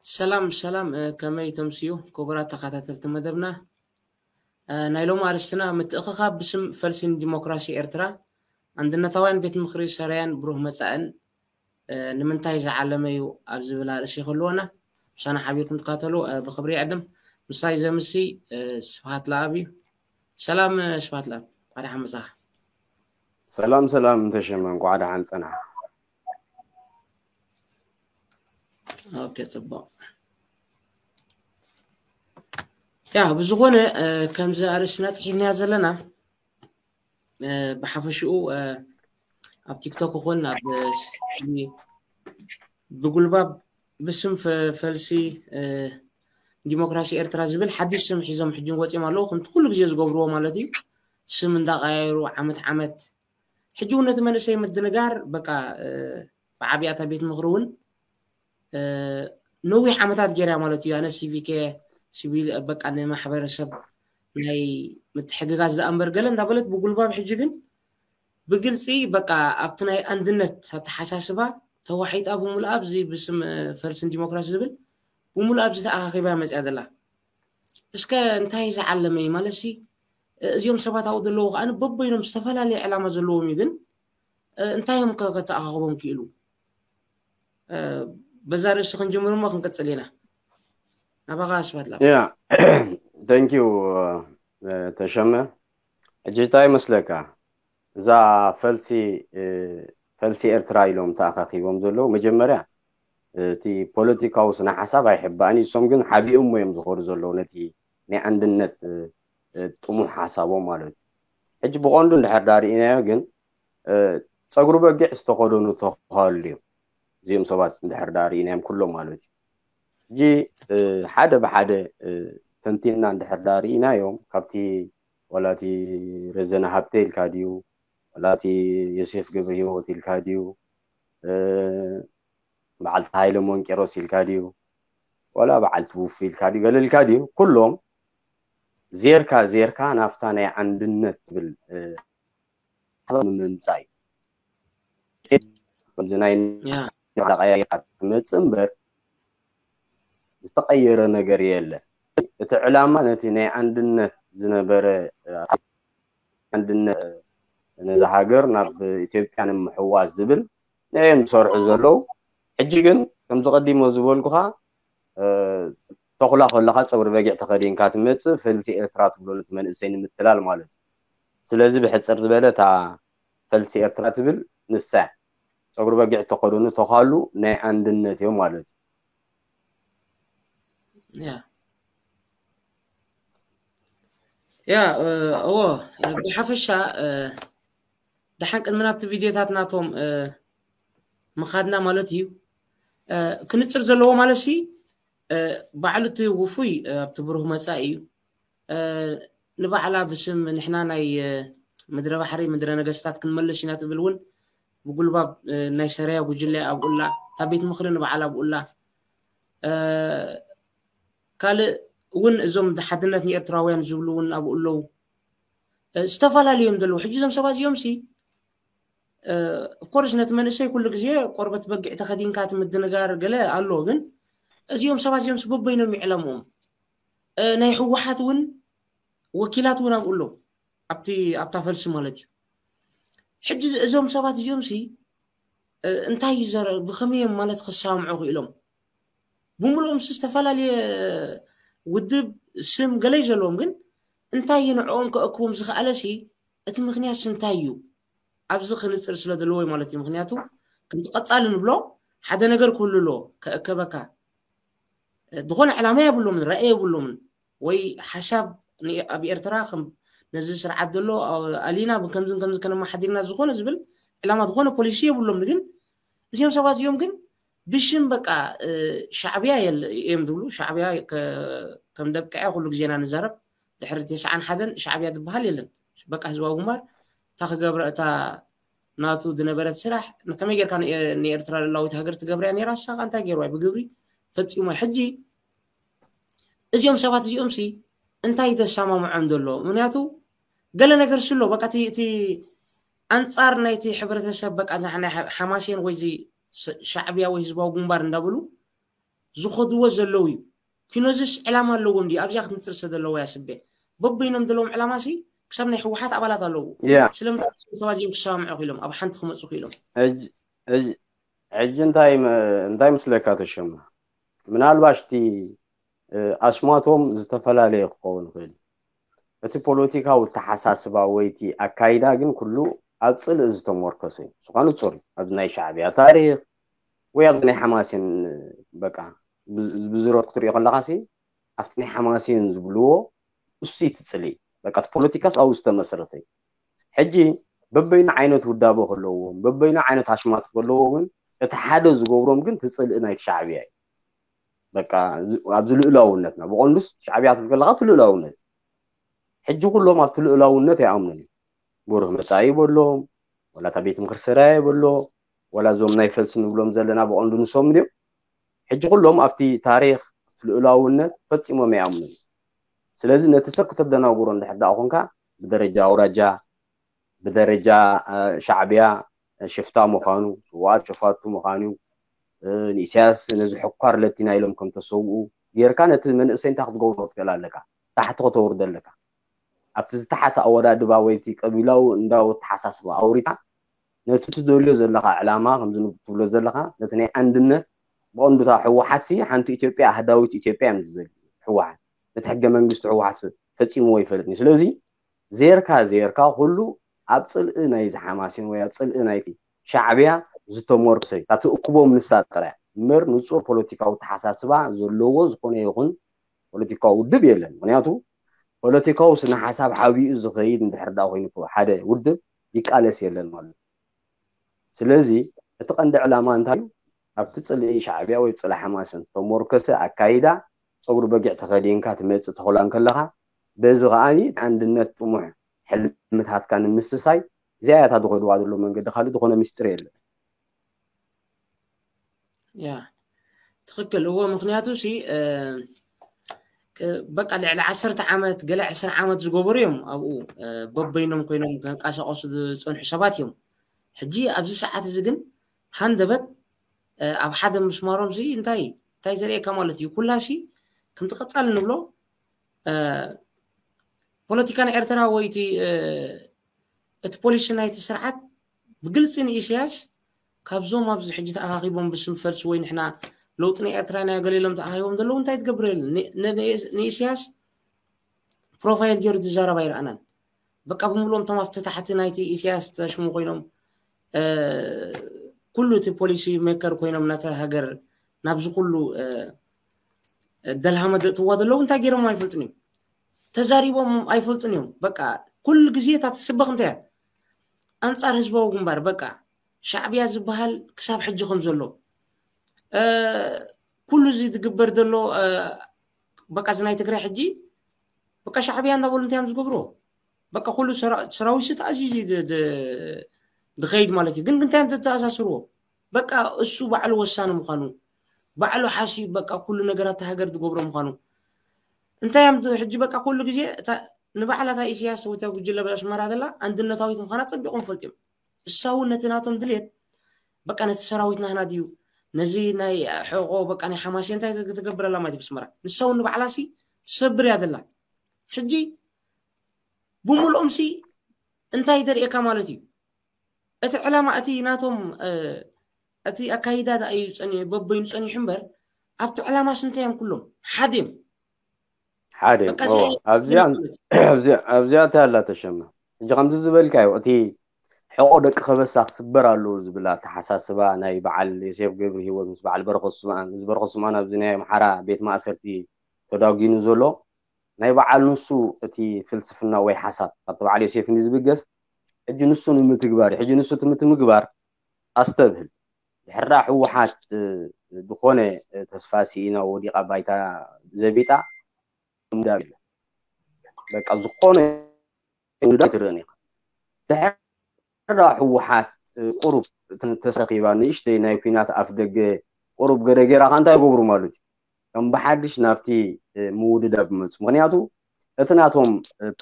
ሰላም ሰላም፣ ከመይ ተምስዩ ክቡራት ተኸታተልቲ መደብና? ናይ ሎሚ ኣርእስትና ምትእኽኻብ ብስም ፈልሲ ንዲሞክራሲ ኤርትራ፣ ኣንድነታውያን ቤት ምኽሪ ሰረያን ብሩህ መጻእን ንምንታይ ዝዓለመ እዩ ኣብ ዝብል ኣርእሲ ክህልወና፣ ምሳና ሓቢርኩም ትካተሉ ብኽብሪ ይዕድም። ምሳይ ዘምሲ ስብሃት ለኣብ እዩ። ሰላም ስብሃት ለኣብ፣ እንኳዕ ደሓን መጻኻ። ሰላም ሰላም ተሸመ፣ እንኳዕ ደሓን ጸናሕ። ኦኬ፣ ጽቡቕ። ያ ብዝኾነ ከምዚ ኣርእስትና ጽሒፍናያ ዘለና፣ ብሓፈሽኡ ኣብ ቲክቶክ ይኹን ኣብ ብጉልባብ ብስም ፈልሲ ዲሞክራሲ ኤርትራ ዝብል ሓድሽ ስም ሒዞም ሕጂ ወፂኦም ኣለዉ። ከምቲ ኩሉ ግዜ ዝገብርዎ ማለት እዩ፣ ስም እንዳቀያየሩ ዓመት ዓመት። ሕጂ እውን ነቲ መንእሰይ ምድንጋር በቃ ብዓብያታ ቤት ምኽሪ እውን ነዊሕ ዓመታት ገይራ ማለት እዩ። ኣነ ሲቪክ እየ፣ ሲቪል በቃ ንማሕበረሰብ ናይ ምትሕግጋዝ ዝኣንበር ገለ እንዳበለት ብጉልባብ ሕጂ ግን ብግልፂ በቃ ኣብቲ ናይ ኣንድነት ኣተሓሳስባ ተዋሒጣ ብምሉኣ ኣብዚ ብስም ፈልስን ዲሞክራሲ ዝብል ብምሉኣ ኣብዚ ተኣኻኺባ መፅያ ዘላ። እስከ እንታይ ዝዓለመ እዩ ማለት ሲ እዚኦም ሰባት ኣብኡ ዘለዉ ከዓ በበይኖም ዝተፈላለየ ዕላማ ዘለዎም እዩ፣ ግን እንታይ እዮም ከተኣኻኽቦም ክኢሉ? በዛ ርእሲ ክንጅምር እሞ ክንቅፅል ኢና። ናባኻ ስብሃት ለኣብ። ያ፣ thank you ተሸመ። ሕጂ እንታይ ይመስለካ፣ እዛ ፈልሲ ፈልሲ ኤርትራ ኢሎም ተኣኻኺቦም ዘለዉ፣ መጀመርያ እቲ ፖለቲካዊ ስነ ሓሳብ ኣይሕባእን እዩ። እሶም ግን ሓቢኦም እዮም ዝኸዱ ዘለዉ ነቲ ናይ ኣንድነት ጥሙሕ ሓሳቦም ማለት እዩ። ሕጂ ብቐንዱ እንድሕር ዳ ርኢናዮ ግን ጸጉሪ በጊዕ ዝተኸደኑ ተኸሉ እዮም እዚኦም ሰባት እንድሕር ዳ ርኢናዮም ኩሎም ማለት እዩ። ሕጂ ሓደ ብሓደ ተንቲንና እንድሕር ዳ ርኢናዮም ካብቲ ዋላ እቲ ረዘነ ሃብተ ኢልካ ድዩ ዋላ እቲ ዮሴፍ ገብረ ህይወት ኢልካ ድዩ በዓልቲ ሃይለ ሞንቄሮስ ኢልካ ድዩ ዋላ በዓልቲ ውፉ ኢልካ ድዩ ገለ ኢልካ ድዩ ኩሎም ዜርካ ዜርካ ናብታ ናይ ኣንድነት ትብል ንምምፃእ እዩ። ከምዚ ናይ ቀያይርካ ትመፅእ እምበር ዝተቀየረ ነገር የለን። እቲ ዕላማ ነቲ ናይ ኣንድነት ዝነበረ ኣንድነት ነዛ ሃገር ናብ ኢትዮጵያ ንምሕዋስ ዝብል ንዕኦም ዝሰርሑ ዘለዉ። ሕጂ ግን ከምዚ ቀዲሞ ዝበልኩኻ ተኹላ ከለኻ ፀጉሪ በጊዕ ተኸዲንካ ትመፅእ፣ ፈልሲ ኤርትራ ትብሎ ነቲ መንእሰይ ንምትላል ማለት እዩ። ስለዚ ብሕፅር ዝበለ እታ ፈልሲ ኤርትራ ትብል ንሳ እያ። ፀጉሪ በጊዕ ተኸደኑ ተኻሉ ናይ ኣንድነት እዮም ማለት እዩ። ያ ያ እዎ ብሓፈሻ ደሓን ቅድሚ ናብቲ ቪድዮታት ናቶም ምኻድና ማለት እዩ ክንፅር ዘለዎ ማለት ሲ ባዕሉ እቲ ውፉይ ኣብቲ ብሩህ መፃኢ እዩ። ንባዕላ ብስም ንሕና ናይ ምድረ ባሕሪ ምድረ ነገስታት ክንመልስ ኢና ትብል እውን ብጉልባብ ናይ ሰረያ ጉጅለ ኣብኡላ እታ ቤት ምኽሪ ንባዕላ ኣብኡላ ካልእ እውን እዞም ሓድነት ንኤርትራውያን ዝብሉ እውን ኣብኡ ኣለዉ። ዝተፈላለዩ እዮም ዘለዉ። ሕጂ እዞም ሰባት እዚኦም ሲ ኦፍኮርስ ነቲ መንእሰይ ኩሉ ግዜ ቆርበት በጊዕ ተኸዲንካ እቲ ምድንጋር ገለ ኣሎ፣ ግን እዚኦም ሰባት እዚኦም ሲ በበይኖም ይዕለምዎም። ናይ ህወሓት እውን ወኪላት እውን ኣብኡ ኣለዉ፣ ኣብቲ ኣብታ ፈልሲ ማለት እዩ። ሕጂ እዞም ሰባት እዚኦም ሲ እንታይ እዩ ዘረ ብኸመይ እዮም ማለት ክሰማምዑ ክኢሎም? ብምሉኦም ሲ ዝተፈላለየ ውድብ ስም ገለ እዩ ዘለዎም፣ ግን እንታይ እዩ ንዕኦም ከእክቦም ዝኸኣለ ሲ እቲ ምኽንያት ሲ እንታይ እዩ? ኣብዚ ክንፅር ስለ ዘለዎ እዩ ማለት እዩ። ምክንያቱ ከምቲ ቀፃሊ ንብሎ ሓደ ነገር ክህሉ ኣለዎ ከእከበካ። ዝኾነ ዕላማ የብሎምን፣ ራእይ የብሎምን። ወይ ሓሳብ ኣብ ኤርትራ ነዚ ስርዓት ዘሎ ኣሊና ከምዝን ከምዚ ከነመሓዲርና ዝኾነ ዝብል ዕላማ ዝኾነ ፖሊሲ የብሎም። ግን እዚኦም ሰባት እዚኦም ግን ብሽም በቃ ሻዕብያ እዮም ዝብሉ። ሻዕብያ ከም ደብቅዐ ኩሉ ግዜና ንዛረብ ድሕሪ ተስዓን ሓደን ሻዕብያ ዝበሃል የለን። በቃ ህዝባዊ ግንባር እታ ክገብረ እታ ናቱ ዝነበረት ስራሕ ከመይ ጌርካ ንኤርትራ ልላዊት ሃገር ትገብርያ ነይራ? ንሳ እንታይ ገይርዋ ብግብሪ ፈጺሞ። ሕጂ እዚኦም ሰባት እዚኦም ሲ እንታይ ተሰማምዖም ዘሎ? ምክንያቱ ገለ ነገር ስሎ በቃ እቲ ኣንጻር ናይቲ ሕብረተሰብ በቃ ሓማሴን ወይ ሻዕብያ ወይ ህዝባዊ ግንባር እንዳበሉ ዝኸድዎ ዘለዉ እዩ። ኪኖዝስ ዕላማ ኣለዎም ድዩ ኣብዚኣ ክትምፅር ዝተደለዎ ያስቤ? በበይኖም ዘለዎም ዕላማ ሲ ክሳብ ናይ ህወሓት ኣባላት ኣለዉ። ያ ስለምንታይ እቶም ሰባት እዚኦም ክሰማምዑ ክኢሎም ኣብ ሓንቲ ክመፁ ክኢሎም? ሕጂ- ሕጂ- ሕጂ እንታይ መ- እንታይ ምስለካ ተሸማ? ምናልባሽ እቲ እ፣ ኣስማቶም ዝተፈላለየ ክኸውን ይኽእል። እቲ ፖለቲካዊ ተሓሳስባ ወይ እቲ ኣካይዳ ግን ኩሉ ኣብ ፅልኢ ዝተሞርከሰ እዩ። ዝኾነ ንፁር እዩ። ኣብዚ ናይ ሻዕብያ ታሪክ ወይ ኣብዚ ናይ ሓማሴን በቃ ብዝረት ክትሪኦ ከለካ ሲ ኣብቲ ናይ ሓማሴን ዝብልዎ እሱ እቲ ፅልኢ በቃ እቲ ፖለቲካስ ኣብኡ ዝተመስረተ እዩ። ሕጂ በበይኑ ዓይነት ውዳበ ከለዎም በበይኑ ዓይነት ኣሽማት ከለዎ ግን እቲ ሓደ ዝገብሮም ግን እቲ ፅልኢ ናይቲ ሻዕብያ እዩ። በቃ ኣብዚ ልእላውነትና ብቐንዱስ ሻዕብያ ትብል ከለካ እቲ ልእላውነት ሕጂ ኩሎም ኣብቲ ልእላውነት ኣይኣምኑን እዩ። ብሩህ መፃኢ ይበሎም ወላ እታ ቤት ምክሪ ሰራየ ይበሎ ወላ እዞም ናይ ፈልሲ ንብሎም ዘለና ብቐንዱ ንሶም ድዮም ሕጂ ኩሎም ኣብቲ ታሪክ ኣብቲ ልእላውነት ፈፂሞም ኣይኣምኑን። ስለዚ ነቲ ሰብ ክተደናጉሮ እንድሕር ደኣ ኮንካ ብደረጃ ኣውራጃ ብደረጃ ሻዕብያ ሽፍታ ምዃኑ ስውኣት ሸፋቱ ምዃኑ ንኢሳያስ ነዚ ሕኳር ለቲና ኢሎም ከም ተሰውኡ ጌርካ ነቲ መንእሰይ እንታይ ክትገብሮ ትኽእል ኣለካ? ታሕቲ ከተውርዶ ኣለካ። ኣብቲ ዝታሓተ ኣወዳድባ ወይ እቲ ቀቢላዊ እንዳዊ ኣተሓሳስባ ኣውሪድካ ነቲ ትደልዮ ዘለኻ ዕላማ ከምዚ ትብሎ ዘለኻ ነቲ ናይ ኣንድነት ብቐንዱታ ህወሓት ሲ ሓንቲ ኢትዮጵያ ኣህዳዊት ኢትዮጵያ እዮም ዝደልዩ። ህወሓት ነቲ ሕገ መንግስቲ ህወሓት ፈፂምዎ ይፈልጥኒ። ስለዚ ዜርካ ዜርካ ኩሉ ኣብ ፅልኢ ናይ ዝሓማሴን ወይ ኣብ ፅልኢ ናይቲ ሻዕብያ ዝተሞርክሰ እዩ። እታ ትእክቦም ንሳ ጥራይ እምበር ንፁር ፖለቲካዊ ተሓሳስባ ዘለዎ ዝኾነ ይኹን ፖለቲካዊ ውድብ የለን። ምክንያቱ ፖለቲካዊ ስነ ሓሳብ ሓቢኡ ዝኸይድ እንድሕር ዳ ኮይኑ ሓደ ውድብ ይቃለስ የለን ማለት እዩ። ስለዚ እቲ ቀንዲ ዕላማ እንታይ እዩ? ኣብቲ ፅልኢ ሻዕብያ ወይ ፅልኢ ሓማሴን ተሞርከሰ ኣካይዳ ፀጉሪ በጊዕ ተኸዲንካ ትመፅእ ተኽላ እንከለኻ በዚ ከዓኒ እቲ ኣንድነት ጥሙሕ ሕልምታትካ ንምስሳይ እዚኣ እያ እታ ዝኸድዋ ዘሎ መንገዲ ካልእ ዝኾነ ሚስጥር የለን። ያ ትኽክል እዎ። ምክንያቱ ሲ በቃ ልዕሊ ዓሰርተ ዓመት ገለ ዕስራ ዓመት ዝገበሩ እዮም ኣብኡ በበይኖም ኮይኖም ከንቀሳቀሱ ዝፀንሑ ሰባት እዮም። ሕጂ ኣብዚ ሰዓት እዚ ግን ሃንደበት ኣብ ሓደ ምስማሮም ሲ እንታይ እንታይ ዘርእየካ ማለት እዩ? ኩላ ሲ ከምቲ ቀፃሊ ንብሎ ፖለቲካ ናይ ኤርትራ ወይ እቲ እቲ ፖሊሲ ናይቲ ስርዓት ብግልፂ ንኢሳያስ ካብዞም ኣብዚ ሕጂ ተኣኻኺቦም ብስም ፈልሲ ወይ ንሕና ለውጢ ናይ ኤርትራ ኢና ገለ ኢሎም ተኣኻኺቦም ዘለዉ እንታይ ትገብር የለን። ንኢሳያስ ፕሮፋይል ገይሩ ዝዛረብ ኣይረኣናን። በቃ ብምሉኦም እቶም ኣብቲ ታሕቲ ናይቲ ኢሳያስ ተሽሙ ኮይኖም ኩሉ እቲ ፖሊሲ ሜከር ኮይኖም ነታ ሃገር ናብዚ ኩሉ ደልሃመ ዘእትዋ ዘለዉ እንታይ ገይሮም ኣይፈልጡን እዮም። ተዛሪቦም ኣይፈልጡን እዮም። በቃ ኩሉ ግዜ እታ ትስበኽ እንታይ እያ? ኣንጻር ህዝባዊ ግንባር በቃ ሻዕብያ ዝበሃል ክሳብ ሕጂ ከም ዘሎ ኩሉ እዚ ዝግበር ዘሎ በቃ እዚ ናይ ትግራይ ሕጂ በቃ ሻዕብያ እንዳበሉ እንታይ እዮም ዝገብርዎ? በቃ ኩሉ ሰራዊት ተኣዚዙ ዝኸይድ ማለት እዩ። ግን እንታይ እዮም ተተኣሳስርዎ? በቃ እሱ ባዕሉ ወሳኒ ምዃኑ ባዕሉ ሓሲብ በቃ ኩሉ ነገር ኣብቲ ሃገር ዝገብሮ ምዃኑ እንታይ እዮም ሕጂ በቃ ኩሉ ግዜ ንባዕላታ ኢሳያስ ወይ ጉጅለ ኣስመራ ዘላ ኣንድነታዊት ምዃና ጸቢቖም ፈልጥዮም። እሳ እውን ነቲ ናቶም ድሌት በቃ ነቲ ሰራዊት ናህና ድዩ ነዚ ናይ ሕቆ በቃ ናይ ሓማሴ እንታይ ትገብረላ ማለት ብስመራ ንሳ እውን ንባዕላ ሲ ትሰብር እያ ዘላ። ሕጂ ብምልኦም ሲ እንታይ ደርእየካ ማለት እዩ? እቲ ዕላማ እቲ ናቶም እቲ ኣካይዳ ደኣ እዩ ጸኒ በበይኑ ጸኒሑ እምበር ኣብቲ ዕላማስ እንታይ እዮም ኩሎም ሓደ እዮም። ሓደ ኣብዚኣ እንታይ ኣላ ተሸማ ሕጂ ከምዚ ዝበልካዮ እቲ ሕቆ ደቂ ከበሳ ክስበር ኣለዎ ዝብል ኣተሓሳስባ ናይ በዓል ዮሴፍ ገብረ ሂወት ምስ በዓል በረኸት ስምኣን እዚ በረኸት ስምኣን ኣብዚ ናይ ኣምሓራ ቤት ማእሰርቲ ተዳጒኑ ዘሎ ናይ በዓል ንሱ እቲ ፍልስፍና ወይ ሓሳብ ካብቲ በዓል ዮሴፍ ዝብገስ ሕጂ ንሱ ንምትግባር እዩ። ሕጂ ንሱ እቲ ምትምግባር ኣስተብህል ድሕራ ህወሓት ዝኾነ ተስፋ ስኢና ወዲቓ ባይታ ዘቢጣ ምዳብ የለን። በቃ ዝኾነ ምዳብ ትርእን ኢኻ። ድሕራ ህወሓት ቁሩብ ተሰኪባ ንእሽተይ ናይ ኩናት ኣፍ ደገ ቁሩብ ገደ ገይራ ከ እንታይ ይገብሩ ማለት እዩ? ከም ብሓድሽ ናብቲ ምውድዳብ ይመፁ። ምክንያቱ እቲ ናቶም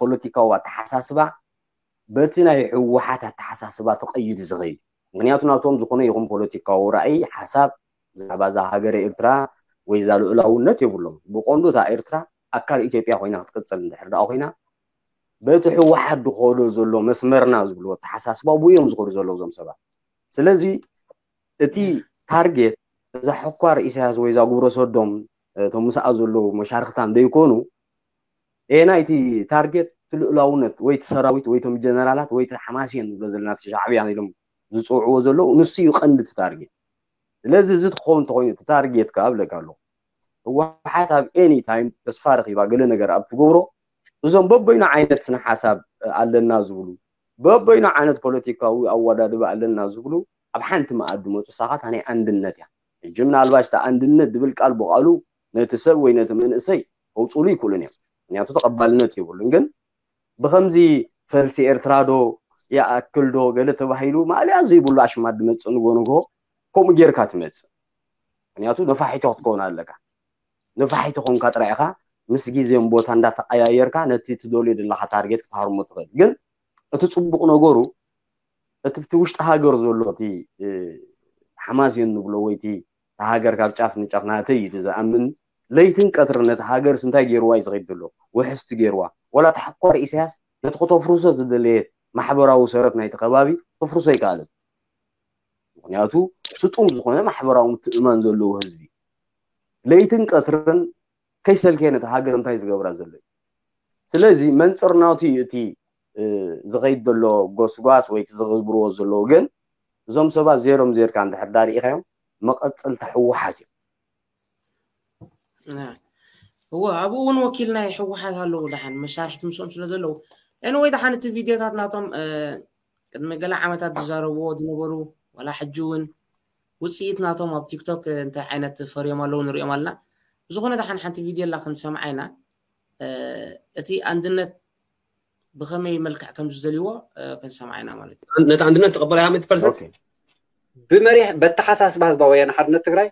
ፖለቲካዊ ኣተሓሳስባ በቲ ናይ ህወሓት ኣተሓሳስባ ተቐይዱ ዝኸይድ ምክንያቱ ናቶም ዝኾነ ይኹን ፖለቲካዊ ራእይ ሓሳብ ብዛዕባ እዛ ሃገረ ኤርትራ ወይ እዛ ልኡላውነት የብሎም። ብቐንዱ እታ ኤርትራ ኣካል ኢትዮጵያ ኮይና ክትቅፅል እንድሕር ደኣ ኮይና፣ በቲ ህወሓት ዝኸዶ ዘሎ መስመርና ዝብልዎ ኣተሓሳስባ ብኡ እዮም ዝኸዱ ዘለዉ እዞም ሰባት። ስለዚ እቲ ታርጌት እዛ ሕኳር ኢሳያስ ወይ እዛ ግብረ ሰዶም፣ እቶም ምስኣ ዘለዉ መሻርክታን ደይኮኑ፣ ኤና እቲ ታርጌት እቲ ልኡላውነት ወይ እቲ ሰራዊት ወይ እቶም ጀነራላት ወይ እቲ ሓማሴን ንብሎ ዘለና እቲ ሻዕብያ ኢሎም ዝፅውዕዎ ዘለዉ፣ ንሱ እዩ ቀንዲ እቲ ታርጌት። ስለዚ እዚ ትኸውን እንተኾይኑ እቲ ታርጌት ከዓ እብለካ ኣለኹ፣ ህወሓት ኣብ ኤኒ ታይም ተስፋ ረኺባ ገለ ነገር ኣብ ትገብሮ፣ እዞም በበይኑ ዓይነት ስነ ሓሳብ ኣለና ዝብሉ፣ በበይኑ ዓይነት ፖለቲካዊ ኣወዳድባ ኣለና ዝብሉ ኣብ ሓንቲ መኣዲ መፁ። ሳኻት ናይ ኣንድነት እያ። ሕጂ ምናልባሽ እታ ኣንድነት ዝብል ቃል ብቓሉ ነቲ ሰብ ወይ ነቲ መንእሰይ ከውፅሉ ይክእሉን እዮም፣ ምክንያቱ ተቐባልነት የብሉን። ግን ብኸምዚ ፈልሲ ኤርትራ ዶ ይኣክል ዶ ገለ ተባሂሉ ማእለያ ዘይብሉ ኣሽማት ዝመፅእ ንጎ ንጎ ከምኡ ጌርካ ትመፅእ። ምክንያቱ ነፋሒቶ ክትከውን ኣለካ። ነፋሒቶ ኮንካ ጥራይ ኢኻ ምስ ግዜን ቦታ እንዳተቀያየርካ ነቲ ትደልዮ ዘለኻ ታርጌት ክትሃርሞ ትኽእል። ግን እቲ ፅቡቕ ነገሩ እቲ ኣብቲ ውሽጢ ሃገር ዘሎ እቲ ሓማሴን ንብሎ ወይ እቲ ሃገር ካብ ጫፍ ንጫፍ ናተይ እዩ ዝኣምን፣ ለይትን ቀትርን ነቲ ሃገርስ እንታይ ገይርዋ እዩ ዝኸይድ ዘሎ? ውሕስቲ ገይርዋ። ዋላ ተሓኳር ኢሳያስ ነቲ ክተፍርሶ ዝደለየ ማሕበራዊ ሰረት ናይቲ ከባቢ ክፍርሶ ኣይከኣለን። ምክንያቱ ስጡም ዝኾነ ማሕበራዊ ምትእምማን ዘለዎ ህዝቢ፣ ለይትን ቀትርን ከይሰልከየ ነቲ ሃገር እንታይ ዝገብራ ዘሎ እዩ። ስለዚ መንፅር ናቱ እዩ እቲ ዝኸይድ ዘሎ ጎስጓስ ወይ እቲ ዝገብርዎ ዘለዉ። ግን እዞም ሰባት ዜሮም ዜርካ እንድሕር ዳ ርኢኻዮም መቐፀልታ ህወሓት እዮም። እወ፣ ኣብኡ እውን ወኪል ናይ ህወሓት ኣለዉ። ደሓን መሳርሕቲ ምስኦም ስለ ዘለዉ፣ ኤንወይ ደሓን እቲ ቪድዮታት ናቶም ቅድሚ ገለ ዓመታት ዝዛረብዎ ዝነበሩ ዋላ ሕጂ እውን ውፅኢት ናቶም ኣብ ቲክቶክ እንታይ ዓይነት ፈርዮም ኣለዉ ንሪኦም ኣለና። ብዝኾነ ደሓን ሓንቲ ቪድዮ ኣላ ክንሰምዓ ኢና። እቲ ኣንድነት ብኸመይ መልክዕ ከም ዝደልይዎ ክንሰምዓ ኢና ማለት እዩ። ነቲ ኣንድነት ተቐበላያ ሚእቲ ፐርሰንት? ብመሪሕ በተሓሳስባ ህዝባዊ ወያነ ሓርነት ትግራይ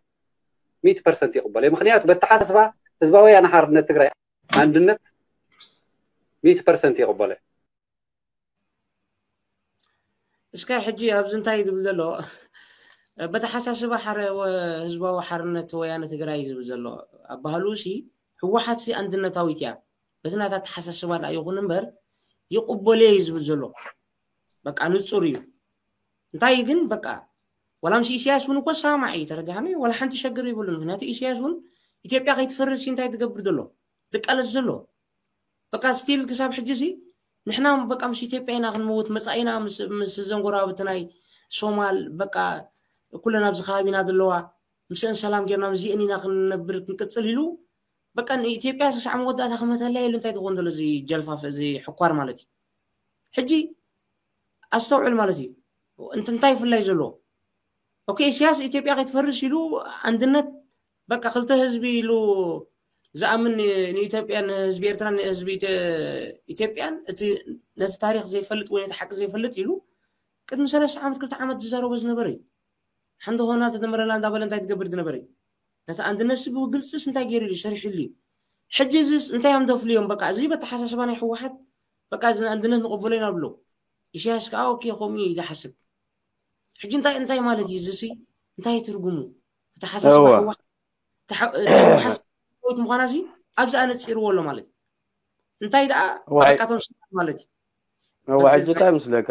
ሚእቲ ፐርሰንት ይቕበሎ። ምክንያቱ በተሓሳስባ ህዝባዊ ወያነ ሓርነት ትግራይ ኣንድነት ሚእቲ ፐርሰንት ይቕበሎ። እስከ ሕጂ ኣብዚ እንታይ ዝብል ዘሎ በተሓሳስባ ሓረ ህዝባዊ ሓርነት ወያነ ትግራይ ዝብል ዘሎ ኣባህሉ ሲ ህወሓት ሲ ኣንድነታዊት እያ። በቲ ናታ ኣተሓሳስባ ደኣ ይኹን እምበር ይቕበሎ እዩ ዝብል ዘሎ። በቃ ንፁር እዩ። እንታይ ግን በቃ ዋላ ምስ ኢሳያስ እውን እኮ ሰማማዕ እዩ። ተረዳሓኒ? ዋላ ሓንቲ ሸግር ይብሉን። ምክንያቱ ኢሳያስ እውን ኢትዮጵያ ከይትፈርስ እንታይ ትገብር ዘሎ? ትቃለስ ዘሎ። በቃ ስቲል ክሳብ ሕጂ ሲ ንሕና በቃ ምስ ኢትዮጵያ ኢና ክንመውት መጻኢና ምስ ዘንጎራብቲ ናይ ሶማል በቃ ኩለን ኣብዚ ከባቢና ዘለዋ ምስአን ሰላም ጌርና ምስዚአን ኢና ክንነብር ክንቅጽል ኢሉ በቃ ንኢትዮጵያ ክሳዕ መወዳእታ ክመተላ ኢሉ እንታይ ትኾን ዘሎ እዚ ጀልፋፍ እዚ ሕኳር ማለት እዩ። ሕጂ ኣስተውዕል ማለት እዩ። እንታይ ይፍላይ ዘሎ? ኦኬ ኢሳያስ ኢትዮጵያ ከይትፈርስ ኢሉ ኣንድነት በቃ ክልተ ህዝቢ ኢሉ ዝኣምን ንኢትዮጵያ ንህዝቢ ኤርትራ ንህዝቢ ኢትዮጵያን እቲ ነቲ ታሪክ ዘይፈልጥ ወይ ነቲ ሓቂ ዘይፈልጥ ኢሉ ቅድሚ ሰለስተ ዓመት ክልተ ዓመት ዝዛረቦ ዝነበረ እዩ። ሓንቲ ኾና ተደመረላ እንዳበለ እንታይ ትገብር ዝነበረ እዩ። ነቲ ኣንድነት ሲ ብግልፅስ እንታይ ገይሩ እዩ ሰሪሕሉ እዩ። ሕጂ እዚስ እንታይ እዮም ደፍልዮም? በቃ እዚ በተሓሳስባ ናይ ህወሓት በቃ እዚ ኣንድነት ንቕበሎ ኢና ብሎ ኢሳያስ ከዓ ኦኬ ከምኡ እዩ ዝሓስብ። ሕጂ እንታይ እንታይ ማለት እዩ እዚሲ እንታይ ትርጉሙ? እቲ ሓሳስባ ህወሓት ምዃና ሲ ኣብዚ ኣነፂርዎ ኣሎ ማለት እዩ። እንታይ ደኣ በቃ ተምስል ማለት እዩ። እዋ ሕጂ እንታይ ምስለካ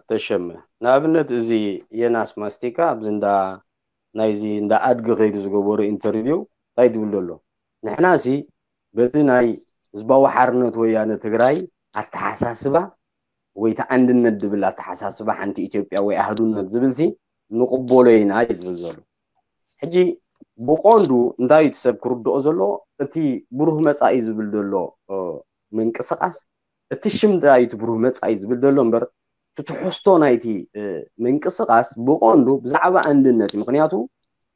ተሸመ፣ ንኣብነት እዚ የናስ ማስቲካ ኣብዚ እንዳ ናይዚ እንዳ ኣድጊ ከይዱ ዝገበሩ ኢንተርቪው እንታይ ዝብል ዘሎ? ንሕና ሲ በቲ ናይ ህዝባዊ ሓርነት ወያነ ትግራይ ኣተሓሳስባ ወይ እቲ ኣንድነት ዝብል ኣተሓሳስባ ሓንቲ ኢትዮጵያ ወይ ኣህዱነት ዝብል ሲ ንቕበሎ ኢና እዩ ዝብል ዘሎ። ሕጂ ብቐንዱ እንታይ እቲ ሰብ ክርድኦ ዘሎ እቲ ብሩህ መፃኢ ዝብል ዘሎ ምንቅስቃስ እቲ ሽም ጥራይ እቲ ብሩህ መፃኢ ዝብል ዘሎ እምበር እቲ ትሕዝቶ ናይቲ ምንቅስቃስ ብቐንዱ ብዛዕባ ኣንድነት እዩ። ምክንያቱ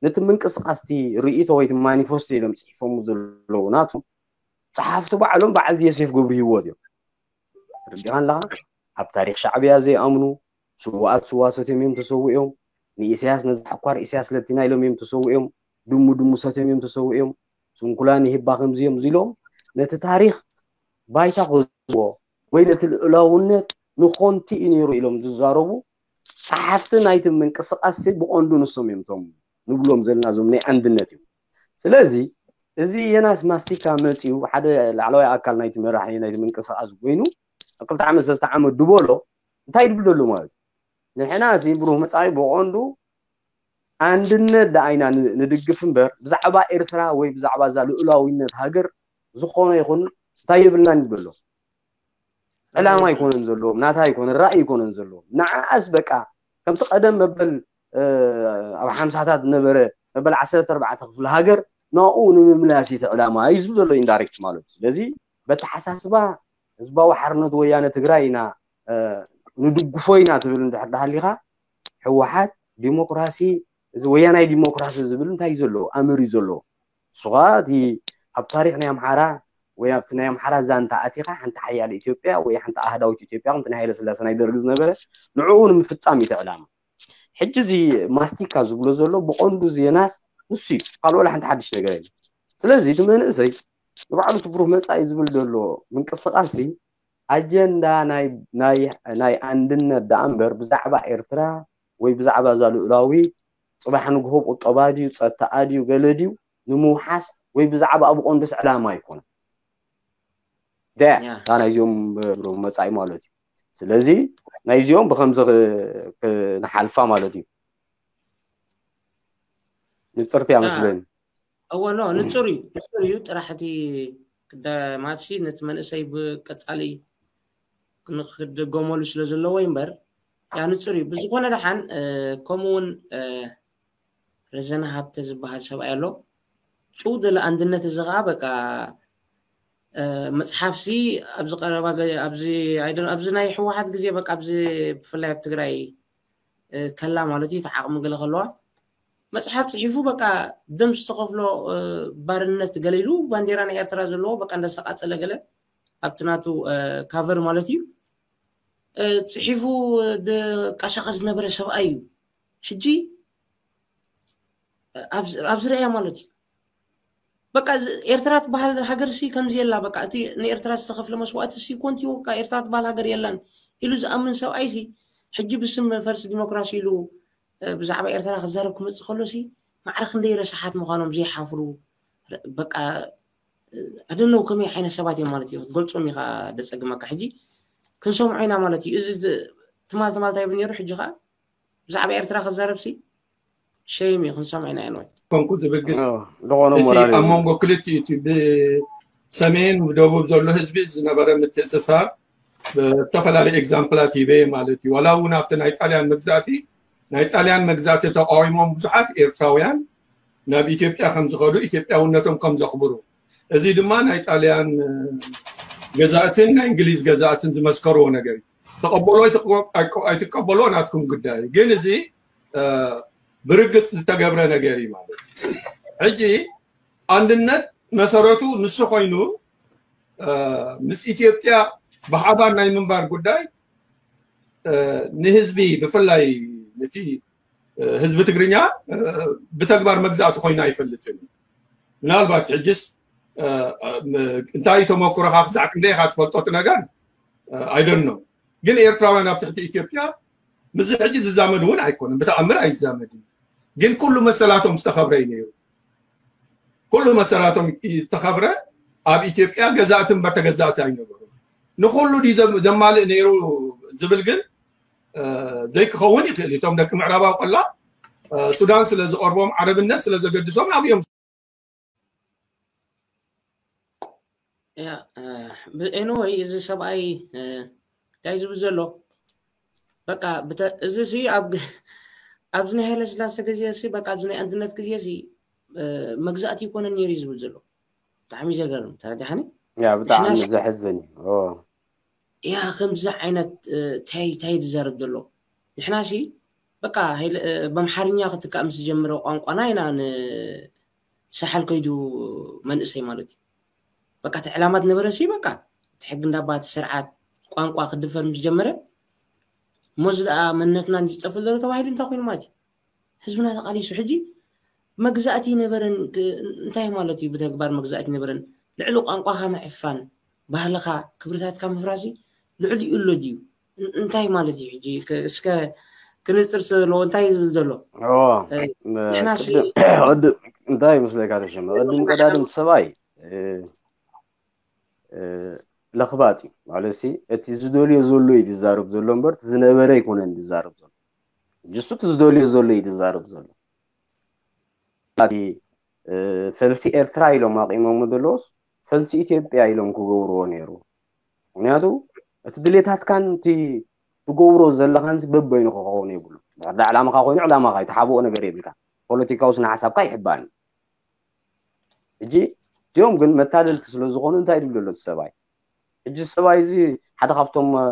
ነቲ ምንቅስቃስ እቲ ርእይቶ ወይ ማኒፌስቶ ኢሎም ፅሒፎም ዘለዉ ናቱ ፀሓፍቲ ባዕሎም በዓል ዮሴፍ ገብሩ ህይወት እዮም። ርዲኻ ኣለኻ ኣብ ታሪክ ሻዕብያ ዘይኣምኑ ስዋኣት ስዋ ሰትዮም እዮም ተሰዊኦም ንኢሳያስ ነዚ ሓኳር ኢሳያስ ለቲና ኢሎም እዮም ተሰዊኦም ድሙ ድሙ ሰትዮም እዮም ተሰዊኦም ስንኩላን ይህባ ከምዚኦም ኢሎም ነቲ ታሪክ ባይታ ክህዝዎ ወይ ነቲ ልእላውነት ንኾንቲ እዩ ነይሩ ኢሎም ዝዛረቡ ፀሓፍቲ ናይቲ ምንቅስቃስ ብቐንዱ ንሶም እዮም ቶም ንብሎም ዘለና እዞም ናይ ኣንድነት እዮም። ስለዚ እዚ የናስ ማስቲካ መፂኡ ሓደ ላዕለዋይ ኣካል ናይቲ መራሒ ናይቲ ምንቅስቃስ ኮይኑ ክልተ ዓመት ሰለስተ ዓመት ድበሎ እንታይ ድብል ደሎ ማለት እዩ። ንሕና እዚ ብሩህ መፃኢ ብቐንዱ ኣንድነት ደኣ ኢና ን- ንድግፍ እምበር ብዛዕባ ኤርትራ ወይ ብዛዕባ እዛ ልኡላዊነት ሃገር ዝኾነ ይኹን እንታይ የብልናን ይብል ኣሎ። ዕላማ ኣይኮነን ዘለዎም፣ ናታ ኣይኮነን፣ ራእይ ኣይኮነን ዘለዎም። ንዓኣስ በቃ ከምቲ ቀደም መበል ኣብ ሓምሳታት ነበረ መበል ዓሰርተ ኣርባዕተ ክፍለ ሃገር ናኡ ንምምላስ እቲ ዕላማ እዩ ዝብል ዘሎ ኢንዳይሬክት ማለት እዩ። ስለዚ በተሓሳስባ ህዝባዊ ሓርነት ወያነ ትግራይ ኢና ንድግፎ ኢና ትብል እንድሕር ዳሃሊኻ ህወሓት ዲሞክራሲ እዚ ወያናይ ዲሞክራሲ ዝብል እንታይ እዩ ዘለዎ ኣምር እዩ ዘለዎ። ንስኻ እቲ ኣብ ታሪክ ናይ ኣምሓራ ወይ ኣብቲ ናይ ኣምሓራ ዛንታ ኣቲኻ ሓንቲ ሓያል ኢትዮጵያ ወይ ሓንቲ ኣህዳዊት ኢትዮጵያ ከምቲ ናይ ሃይለ ስላሴ ናይ ደርጊ ዝነበረ ንዕኡ ንምፍፃም እዩ እቲ ዕላማ። ሕጂ እዚ ማስቲካ ዝብሎ ዘሎ ብቐንዱ ዜናስ ንሱ እዩ። ካልእ ወላ ሓንቲ ሓድሽ ነገር የለን። ስለዚ እቲ መንእሰይ ንባዕሉ እቲ ብሩህ መፃኢ ዝብል ዘሎ ምንቅስቃስ ኣጀንዳ ናይ ናይ ናይ ኣንድነት ደኣ እምበር ብዛዕባ ኤርትራ ወይ ብዛዕባ እዛ ልኡላዊ ፅባሕ ንግሆ ቁጠባ ድዩ ፀጥታኣ ድዩ ገለ ድዩ ንምውሓስ ወይ ብዛዕባ ኣብ ቆንዱስ ዕላማ ኣይኮነን። ደ እታ ናይዚኦም መፃኢ ማለት እዩ። ስለዚ ናይዚኦም ብከምዚ ክንሓልፋ ማለት እዩ። ንፅርቲ እያ መስለኒ። እወ ኖ ንፁር እዩ ንፁር እዩ ጥራሕ እቲ ክዳማትሲ ነቲ መንእሰይ ብቀፃሊ ንክድገመሉ ስለ ዘለዎ እዩ እምበር ያ ንፁር እዩ። ብዝኾነ ደሓን ከምኡ እውን ረዘነ ሃብተ ዝበሃል ሰብኣይ ኣሎ ጭው ደለ ኣንድነት እዚ ከዓ በቃ መፅሓፍሲ ኣብዚ ቀረባ ኣብዚ ናይ ህወሓት ግዜ በቃ ኣብዚ ብፍላይ ኣብ ትግራይ ከላ ማለት እዩ ተዓቕሚ ገለ ከለዋ መፅሓፍ ፅሒፉ በቃ ደም ዝተኸፍሎ ባርነት ገለ ኢሉ ባንዴራ ናይ ኤርትራ ዘለዎ በቃ እንዳስተቃፀለ ገለ ኣብቲ ናቱ ካቨር ማለት እዩ ፅሒፉ ቀሰቀ ዝነበረ ሰብኣይ እዩ። ሕጂ ኣብዚ ረእያ ማለት እዩ በቃ ኤርትራ ትበሃል ሃገር ሲ ከምዚ የላ በቃ እቲ ንኤርትራ ዝተኸፍለ መስዋእቲ ሲ ኮንቲ በቃ ኤርትራ ትበሃል ሃገር የላን ኢሉ ዝኣምን ሰብኣይ ሲ ሕጂ ብስም ፈርስ ዲሞክራሲ ኢሉ ብዛዕባ ኤርትራ ክዛረብ ክመፅእ ከሎ ሲ ማዕረ ክንደይ ረሳሓት ምዃኖም ዘይሓፍሩ በቃ ኣደነው ከመይ ዓይነት ሰባት እዮም ማለት እዩ ክትገልፆም ኢኻ ደፀግመካ ሕጂ ክንሰምዖ ኢና ማለት እዩ እዚ ትማል ትማል እንታይ ይብል ነይሩ ሕጂ ከዓ ብዛዕባ ኤርትራ ክዛረብ ሲ ሸይም እዩ ክንሰምዖ ኢና ኢንወይ ኮንኩ ዝብግስ ዝኾነ እቲ ሞራል ኣብ መንጎ ክልቲኡ እቲ ብሰሜን ብደቡብ ዘሎ ህዝቢ ዝነበረ ምትእስሳር ብዝተፈላለዩ ኤግዛምፕላት ሂበ ማለት እዩ ዋላ እውን ኣብቲ ናይ ጣልያን መግዛእቲ ናይ ጣልያን መግዛእቲ ተቃዊሞም ብዙሓት ኤርትራውያን ናብ ኢትዮጵያ ከም ዝኸዱ ኢትዮጵያውነቶም ከም ዘኽብሩ እዚ ድማ ናይ ጣልያን ገዛእትን ናይ እንግሊዝ ገዛእትን ዝመስከርዎ ነገር እዩ ተቀበሎ ኣይትቀበሎ ናትኩም ጉዳይ ግን እዚ ብርግፅ ዝተገብረ ነገር እዩ ማለት ሕጂ ኣንድነት መሰረቱ ንሱ ኮይኑ ምስ ኢትዮጵያ ብሓባር ናይ ምንባር ጉዳይ ንህዝቢ ብፍላይ ነቲ ህዝቢ ትግርኛ ብተግባር መግዛእቲ ኮይኑ ኣይፈልጥን ምናልባት ሕጅስ እንታይ ተመክሮካ ክሳዕ ክንደይ ኢካ ትፈልጦ እቲ ነገር ኣይደኖ ግን ኤርትራውያን ኣብ ትሕቲ ኢትዮጵያ ምስዚ ሕጂ ዝዛመድ እውን ኣይኮነን ብተኣምር ኣይዛመድን ግን ኩሉ መሰላቶም ዝተኸብረ እዩ ነይሩ ኩሉ መሰላቶም ዝተኸብረ ኣብ ኢትዮጵያ ገዛእቲ እምበር ተገዛእቲ ኣይነበሩ ንኩሉ ድዩ ዘማልእ ነይሩ ዝብል ግን ዘይክኸውን ይኽእል እቶም ደቂ ምዕራባዊ ቆላ ሱዳን ስለ ዝቐርቦም ዓረብነት ስለ ዘገድሶም ኣብዮም ያ ኤኒወይ እዚ ሰብኣይ እንታይ ዝብል ዘሎ በቃ እዚ ሲ ኣብዚ ናይ ሃይለስላሴ ግዜ ሲ በቃ ኣብዚ ናይ ኣንድነት ግዜ ሲ መግዛእቲ ይኮነ ነይሩ ዝብል ዘሎ ብጣዕሚ ዘገርም ተረዳሕኒ ያ ብጣዕሚ ዘሕዝን እዩ ያ ከምዚ ዓይነት ታይ ታይ ዝዛረብ ዘሎ ንሕና ሲ በቃ በምሓርኛ ክትካእ ምስ ዝጀምረ ቋንቋና ኢና ንሳሓል ከይዱ መንእሰይ ማለት እዩ በቃ እቲ ዕላማ ዝነበረ ሲ በቃ እቲ ሕጊ እንዳባ እቲ ስርዓት ቋንቋ ክድፈር ምስ ጀመረ ሞዚ ደኣ መንነትና ዝጠፍእ ዘሎ ተባሂሉ እንታይ ኮይኑ ማለት እዩ ህዝብና ተቃሊሱ ሕጂ መግዛእቲ ይነበረን እንታይ ማለት እዩ ብተግባር መግዛእቲ ይነበረን ልዕሊ ቋንቋካ ምዕፋን ባህልካ ክብርታትካ ምፍራሲ ልዕሊ እዩ ኣሎ ድዩ እንታይ ማለት እዩ ሕጂ እስከ ክንፅር ስለ ዘለዎ እንታይ እዩ ዝብል ዘሎ? ኦ፣ እ፣ ም- ንሕና ሲ ቅድም ቅድም እንታይ ይመስለካ ተሸመ? ቅድም ቀዳድም ሰብኣይ እ፣ እ፣ ለኽባጥ እዩ ማለት ሲ፣ እቲ ዝደልዮ ዘሎ እዩ ዝዛረብ ዘሎ እምበር እቲ ዝነበረ ኣይኮነን ዝዛረብ ዘሎ። እሱ እቲ ዝደልዮ ዘሎ እዩ ዝዛረብ ዘሎ። እቲ እ፣ ፈልሲ ኤርትራ ኢሎም ኣቂሞም ዘለውስ ፈልሲ ኢትዮጵያ ኢሎም ክገብርዎ ነይሩ። ምክንያቱ እቲ ድሌታትካን እቲ ትገብሮ ዘለኻን ሲ በበይኑ ክኸውን የብሉ። ድሕር ዕላማኻ ኮይኑ ዕላማኻ እዩ፣ ትሓብኦ ነገር የብልካ። ፖለቲካዊ ስነ ሓሳብካ ይሕባን። ሕጂ እዚኦም ግን መታለልቲ ስለ ዝኾኑ እንታይ ድብል ዘሎ እቲ ሰብኣይ? ሕጂ ሰብኣይ እዚ ሓደ ካብቶም እ፣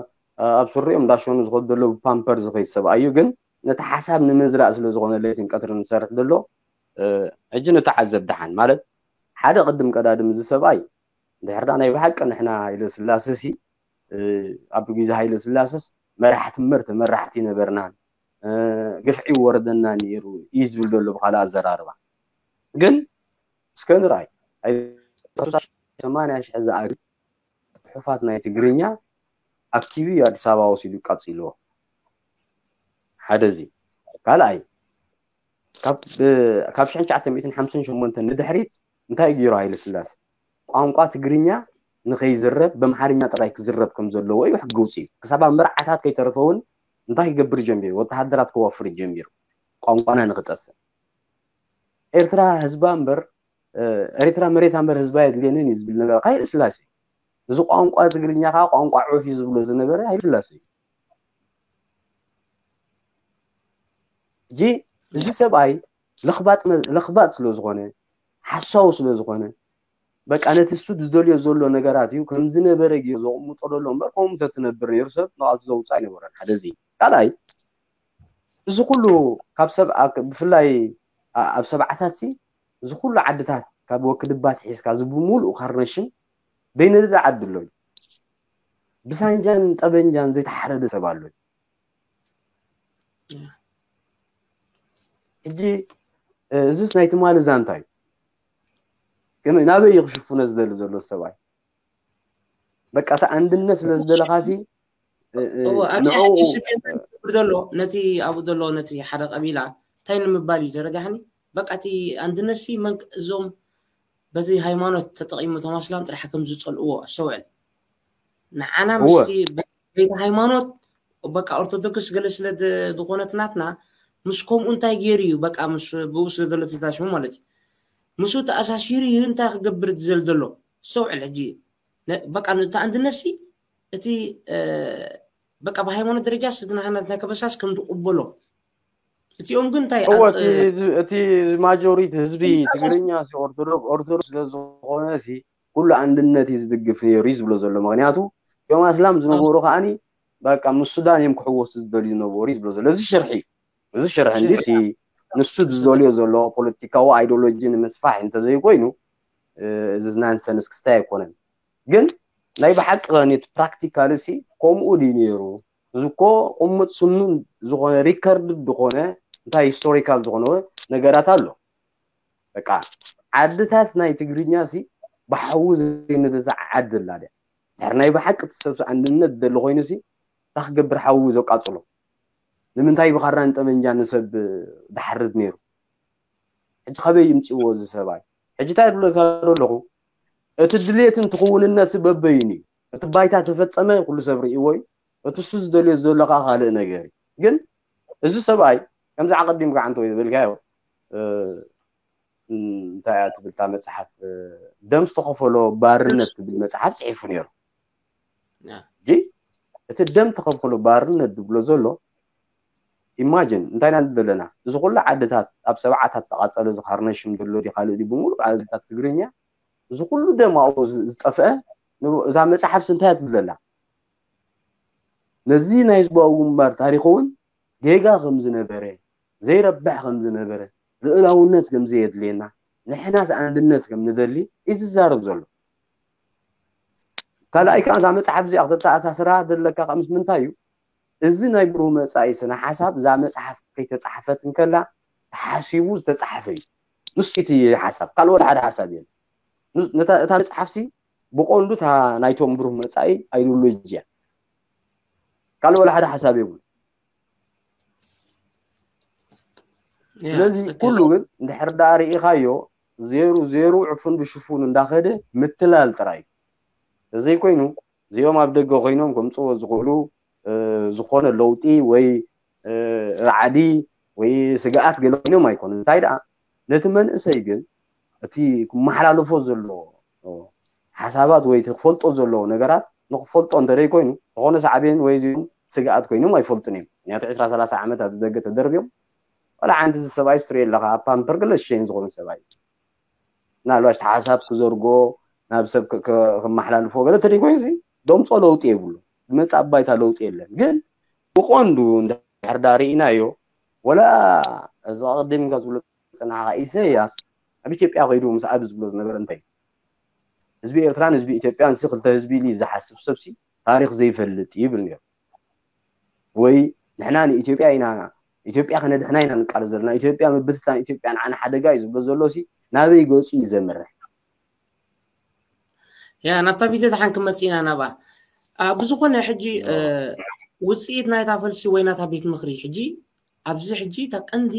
ኣብ ስሪኦም እንዳሸኑ ዝኸዱ ዘለዉ ፓምፐር ዝኸይድ ሰብኣይ እዩ። ግን ነቲ ሓሳብ ንምዝራእ ስለ ዝኾነ ለይትን ቀትርን ዝሰርሕ ዘሎ እ፣ ሕጂ ነተዓዘብ ደሓን ማለት ሓደ ቅድም ቀዳድም እዚ ሰብኣይ ድሕርዳ ናይ ብሓቂ ንሕና ሃይለ ስላሰ ሲ እ፣ ኣብ ግዜ ሃይለ ስላሰስ መራሕቲ እምበር ተመራሕቲ ነበርናን እ፣ ግፍዒ ወረደና ነይሩ እዩ ዝብል ዘሎ ብካልእ ኣዘራርባ። ግን እስከ ንርኣይ ሃይለ ሰማንያ ሽሕ ዝኣክል ጽሑፋት ናይ ትግርኛ ኣኪቡ እዩ ኣዲስ ኣበባ ወሲዱ ቀጺልዎ። ሓደ እዚ ካልኣይ ካብ ብ- ካብ ሽሕን ትሽዓተ ሚእትን ሓምሳን ሸሞንተን ንድሕሪት እንታይ ገይሩ ሃይለ ስላሴ? ቋንቋ ትግርኛ ንኸይዝረብ በምሓርኛ ጥራይ ክዝረብ ከም ዘለዎ እዩ ሕጊ ውፅኢ። ክሳብ ኣብ መርዓታት ከይተረፈ እውን እንታይ ክገብር ጀሚሩ? ወተሃደራት ከወፍር ጀሚሩ ቋንቋና ንክጠፍእ። ኤርትራ ህዝባ እምበር ኤርትራ መሬታ እምበር ህዝባ የድልየንን እዩ ዝብል ነበረ ሃይለ ስላሴ። እዚ ቋንቋ ትግርኛ ከዓ ቋንቋ ዑፍ እዩ ዝብሎ ዝነበረ ሃይለ ስላሴ እዩ። እጂ እዚ ሰብኣይ ለኽባጥ ለኽባጥ ስለ ዝኾነ ሓሳዊ ስለ ዝኾነ በቃ ነቲ እሱ ዝደልዮ ዘሎ ነገራት እዩ ከም ዝነበረ ገይሩ ዘቕምጦ ዘሎ እምበር ከምኡ ተትነብር ነይሩ ሰብ ንቓልሲ ዘውፅእ ኣይነበረን። ሓደ እዚ ካልኣይ እዚ ኩሉ ካብ ሰብ ብፍላይ ኣብ ሰብዓታት ሲ እዚ ኩሉ ዓድታት ካብ ወክድባት ሒዝካ እዚ ብምሉእ ካርነሽን በይነደዳ ዓዲ ኣሎ ብሳንጃን ጠበንጃን ዘይተሓረደ ሰብ ኣሎ። ሕጂ እዚስ ናይ ትማሊ ዛንታ እዩ። ግን ናበይ እዩ ክሽፍኖ ዝደሊ ዘሎ ሰብኣይ? በቃ እቲ ኣንድነት ስለ ዝደለኻ ሲ እዎ ኣብዚ ሕጂ ስሜት ዝገብር ዘሎ ነቲ ኣብኡ ዘሎ ነቲ ሓደ ቀቢላ እንታይ ንምባል እዩ ዘረጋሕኒ? በቃ እቲ ኣንድነት ሲ መን እዞም በቲ ሃይማኖት ተጠቒሙ እቶም ኣስላም ጥራሕ ከም ዝጸልእዎ ኣስተውዕል። ንዓና እወ ምስቲ በ- በይቲ ሃይማኖት በቃ ኦርቶዶክስ ገለ ስለ ድ- ዝኾነት ናትና ምስ ከምኡ እንታይ ገይሩ እዩ በቃ ምስ ብኡ ስለ ዘሎ ተታሽሙ ማለት እዩ። ምስኡ ተኣሳሲሩ እዩ እንታይ ክገብር ዝዘል ዘሎ ኣስተውዕል። ሕጂ ነ- በቃ ነቲ ኣንድነት ሲ እቲ እ፣ በቃ ብሃይማኖት ደረጃ ስድናህነት ናይ ከበሳስ ከም ዝቕበሎ እቲኦም ግን እንታይ እወ ኣፅ- እቲ እዚ- እቲ ማጆሪቲ ህዝቢ ትግርኛ ሲ ኦርቶዶክስ ኦርቶዶክስ ስለ ዝኾነ ሲ ኩሉ ኣንድነት እዩ ዝድግፍ ነይሩ እዩ ዝብሎ ዘሎ። ምክንያቱ እቶም ኣስላም ዝነበሩ ከዓኒ በቃ ምስ ሱዳን እዮም ክሕወሱ ዝደልዩ ዝነበሩ እዩ ዝብሎ ዘሎ። እዚ ሽርሒ እዩ። እዚ ሽርሒ እንዲ እቲ ንሱ ዝደልዮ ዘሎ ፖለቲካዊ ኣይዲዮሎጂ ንምስፋሕ እንተዘይኮይኑ እ፣ እዚ ናንሰንስ ክስታይ ኣይኮነን። ግን ናይ ብሓቂ ከኒ እቲ ፕራክቲካል ሲ ከምኡ ድዩ ነይሩ? እዚ እኮ ቁሙጥ ስኑን ዝኾነ ሪከርድ ዝኾነ እንታይ ሂስቶሪካል ዝኾነ ነገራት ኣሎ። በቃ ዓድታት ናይ ትግርኛ ሲ ብሓዊ ዘይነደታ ዓዲ ኣላ ድያ? ድሕሪ ናይ ብሓቂ እቲ ሰብ ኣንድነት ደሊ ኮይኑ ሲ እንታይ ክገብር ሓዊ ዘቃፅሎ? ንምንታይ ብኻራን ጠመንጃ ንሰብ ድሓርድ ነይሩ? ሕጂ ካበይ ይምፅእዎ እዚ ሰብኣይ? ሕጂ እንታይ ዝብለካ ኣለኹ እቲ ድሌትን ትኽውንነት ሲ በበይኑ እዩ። እቲ ባይታ ተፈፀመ ኩሉ ሰብ ርእይዎ እዩ። እቲ እሱ ዝደልዮ ዘሎ ከዓ ካልእ ነገር እዩ። ግን እዚ ሰብኣይ ከምዚ ዓቐዲምካ ዓንተ ወይ ዝበልካዮ እ፣ እንታይ እያ ትብል እታ መፅሓፍ እ፣ ደም ዝተኸፈሎ ባርነት ትብል መፅሓፍ ፅሒፉ ነይሩ። ያ። ሕጂ እቲ ደም ተኸፈሎ ባርነት ዝብሎ ዘሎ ኢማጅን እንታይ ኢና ዘለና እዚ ኩሉ ዓድታት ኣብ ሰብዓታት ተቓፀለ ዝኻርነሽም ዘሎ ዲ ካልእ ዲ ብምሉእ ዓድታት ትግርኛ እዚ ኩሉ ደም ኣብኡ ዝ- ዝጠፍአ ን- እዛ መፅሓፍ እንታይ እያ ትብል ዘላ ነዚ ናይ ህዝባዊ ግንባር ታሪክ እውን ጌጋ ከም ዝነበረ ዘይረብሕ ከም ዝነበረ ልእላውነት ከም ዘየድልየና ንሕናስ ኣንድነት ከም ንደሊ እዩ ዝዛረብ ዘሎ። ካልኣይ ከዓ እዛ መፅሓፍ እዚኣ ክተተኣሳስራ ዘለካ ከዓ ምስ ምንታይ እዩ? እዚ ናይ ብሩህ መፃኢ ስነ ሓሳብ እዛ መፅሓፍ ከይተፃሕፈት እንከላ ተሓሲቡ ዝተፃሕፈ እዩ። ንሱ እቲ ሓሳብ ካልእ ወላ ሓደ ሓሳብ የለን። ንስ- ነታ- እታ መፅሓፍሲ ብቆንዱ እታ ናይቶም ብሩህ መፃኢ ኣይዲዮሎጂ እያ። ካልእ ወላ ሓደ ሓሳብ የብሉ። ስለዚ ኩሉ ግን እንድሕር ደኣ ርኢኻዮ ዜሩ ዜሩ ዕፉን ብሽፉን እንዳኸደ ምትላል ጥራይ እዩ። ተዘይኮይኑ እዚኦም ኣብ ደገ ኮይኖም ከምፅዎ ዝኽእሉ ዝኾነ ለውጢ ወይ ራዕዲ ወይ ስግኣት ገለ ኮይኖም ኣይኮኑን። እንታይ ደኣ ነቲ መንእሰይ ግን እቲ ክመሓላለፎ ዘሎ ሓሳባት ወይ እቲ ክፈልጦ ዘለዎ ነገራት ንክፈልጦ እንተደይ ኮይኑ ዝኾነ ሳዕቤን ወይ እዚኦም ስግኣት ኮይኖም ኣይፈልጡን እዮም። ምክንያቱ ዕስራ ሰላሳ ዓመት ኣብዚ ደገ ተደርብዮም ዋላ ሓንቲ እዚ ሰብኣይ ስትሪ ኣለካ ኣብ ፓምፐር ገለ ሽሸይን ዝኾነ ሰብኣይ ምናልባሽ ሓሳብ ክዘርጎ ናብ ሰብ ክመሓላልፎ ገለ ተደይ ኮይኑ ደምፆ ለውጢ የብሉ። ብመፃእ ባይታ ለውጢ የለን። ግን ብቐንዱ እንድሕር ዳ ርኢናዮ ወላ እዚ ቅድም ኢልካ ዝብሎ ዝፀናሕካ ኢሳያስ ኣብ ኢትዮጵያ ከይዱ ምስ ኣብ ዝብሎ ዝነበረ እንታይ ህዝቢ ኤርትራን ህዝቢ ኢትዮጵያን ሲ ክልተ ህዝቢ ኢሉ ዝሓስብ ሰብሲ ታሪክ ዘይፈልጥ ይብል ነይሩ። ወይ ንሕና ንኢትዮጵያ ኢና ኢትዮጵያ ከነድሕና ኢና ንቃለስ ዘለና ኢትዮጵያ ምብትታን ኢትዮጵያ ንዓና ሓደጋ እዩ ዝብሎ ዘሎ ሲ ናበይ ገፁ እዩ ዘምርሕ? ያ ናብታ ቪድዮ ደሓን ክመፅእ ኢና ናብኣ። ብዝኾነ ሕጂ ውፅኢት ናይታ ፈልሲ ወይ ናታ ቤት ምኽሪ ሕጂ ኣብዚ ሕጂ እታ ቀንዲ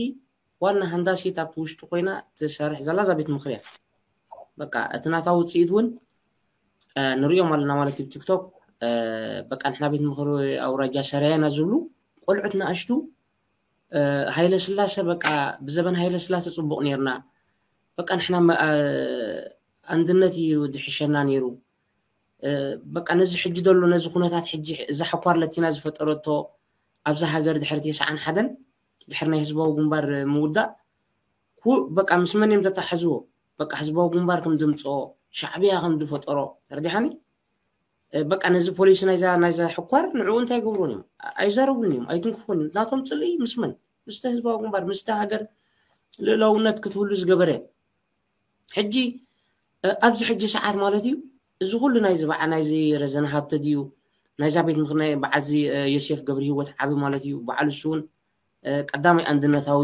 ዋና ሃንዳሲት ኣብቲ ውሽጢ ኮይና ትሰርሕ ዘላ እዛ ቤት ምኽሪ እያ። በቃ እቲ ናታ ውፅኢት እውን ንሪኦም ኣለና ማለት እዩ። ቲክቶክ በቃ ንሕና ቤት ምኽሪ ኣውራጃ ሰራየና ዝብሉ ቆልዑት ንኣሽቱ ሃይለ ስላሰ በቃ ብዘበን ሃይለ ስላሰ ፅቡቕ ነርና በቃ ንሕና ኣንድነት እዩ ዝሕሸና ነይሩ። በቃ ነዚ ሕጂ ዘሎ ነዚ ኩነታት ሕጂ እዛ ሕኳር ለቲና ዝፈጠረቶ ኣብዛ ሃገር ድሕሪ ተስዓን ሓደን ድሕሪ ናይ ህዝባዊ ግንባር ምውዳእ በቃ ምስ መን እዮም ተታሓዝዎ? በቃ ህዝባዊ ግንባር ከም ድምፅኦ ሻዕብያ ከም ዝፈጠሮ ተረዲሓኒ። በቃ ነዚ ፖሊሲ ናይዛ ናይዛ ሕኳር ንዕኡ እንታይ ገብሩን እዮም? ኣይዛረቡን እዮም፣ ኣይትንክፉን እዮም። ናቶም ፅልኢ ምስ መን? ምስተ ህዝባዊ ግንባር ምስተ ሃገር ልእላውነት ክትህሉ ዝገበረ ሕጂ ኣብዚ ሕጂ ሰዓት ማለት እዩ። እዚ ኩሉ ናይዚ በዓ ናይዚ ረዘነ ሃብተ ድዩ ናይዛ ቤት ምኽሪ በዓዚ ዮሴፍ ገብረ ህይወት ዓቢ ማለት እዩ። በዓሉ እሱ እውን ቀዳማይ ኣንድነታዊ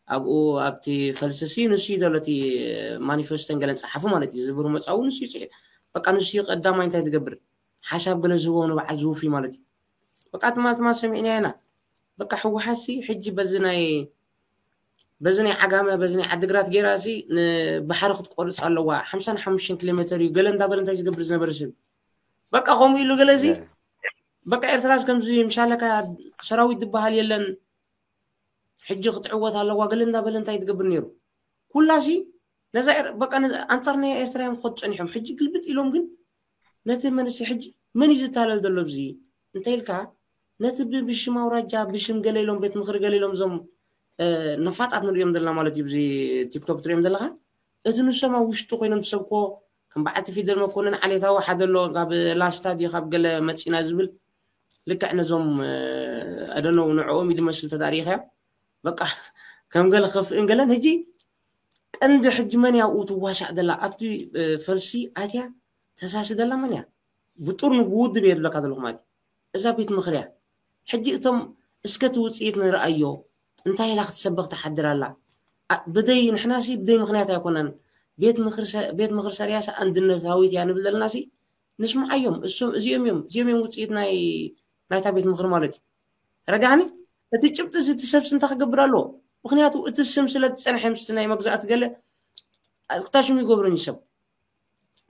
ኣብኡ ኣብቲ ፈልስሲ ንሱ እዩ ዘሎ እቲ ማኒፌስቶን ገለን ጸሓፉ ማለት እዩ። ዝብሩ መጻኡ ንሱ እዩ ጽሒፉ። በቃ ንሱ እዩ ቀዳማይ እንታይ ትገብር ሓሳብ ገለ ዝህቦ ንበዓል ዝውፊ ማለት እዩ። በቃ ትማትማ ሰሚዕና ኢና። በቃ ህወሓትሲ ሕጂ በዚ ናይ በዚ ናይ ዓጋመ በዚ ናይ ዓድግራት ጌራ ሲ ንባሕሪ ክትቆርፅ ኣለዋ ሓምሳን ሓሙሽተን ኪሎ ሜትር እዩ ገለ እንዳበለ እንታይ ዝገብር ዝነበረ ሰብ በቃ ከምኡ ኢሉ ገለ እዚ በቃ ኤርትራስ ከምዚ ምሻለካ ሰራዊት ዝበሃል የለን ሕጂ ክትዕወት ኣለዋ ገለ እንዳበለ እንታይ ትገብር ነይሩ ኩላሲ ነዛ በቃ ኣንፃር ናይ ኤርትራ እዮም ክኸዱ ፀኒሖም ሕጂ ግልብጥ ኢሎም ግን ነቲ መንስይ ሕጂ መን እዩ ዝታለል ዘሎ ኣብዚ እንተ ኢልካ ነቲ ብሽም ኣውራጃ ብሽም ገለ ኢሎም ቤት ምኽሪ ገለ ኢሎም እዞም ነፋጣት ንሪኦም ዘለና ማለት እዩ እዚ ቲክቶክ ትሪኦም ዘለካ እቲ ንሶም ኣብ ውሽጡ ኮይኖም ዝሰብኮ ከም በዓልቲ ፊደል መኮንን ዓሌታዊ ሓደ ኣሎ ካብ ላስታ ድዩ ካብ ገለ መፂና ዝብል ልክዕ ነዞም ኣደነው ንዕኦም እዩ ዝመስል ተዳሪእካዮ በቃ ከም ገለ ክኸፍእን ገለን ሕጂ ቀንዲ ሕጂ መን ያብኡ ትዋሳእ ደላ ኣብቲ ፈልሲ ኣትያ ተሳሲ ደላ መን እያ ብጡር ንውድብ እየ ዝብለካ ዘለኹ ማለት እዛ ቤት ምኽርያ ሕጂ እቶም እስከ እቲ ውፅኢት ንርኣዮ እንታይ ኢላ ክትሰበኽ ትሓድር ኣላ ብደይ ንሕናሲ ብደይ ምክንያት ኣይኮነን ቤት ምኽሪ ሰርያሲ ኣንድነታዊት እያ ንብል ዘለና ሲ ንስምዓዮም እዚኦም እዮም እዚኦም እዮም ውፅኢት ናይ ናይታ ቤት ምኽሪ ማለት እዩ ረዳኒ እቲ ጭብጢ እዚ እቲ ሰብሲ እንታይ ክገብር ኣለዎ ምክንያቱ እቲ ስም ስለ ዝፀንሐ ምስቲ ናይ መግዛእቲ ገለ ክታሽም ይገብሩን እዩ ሰብ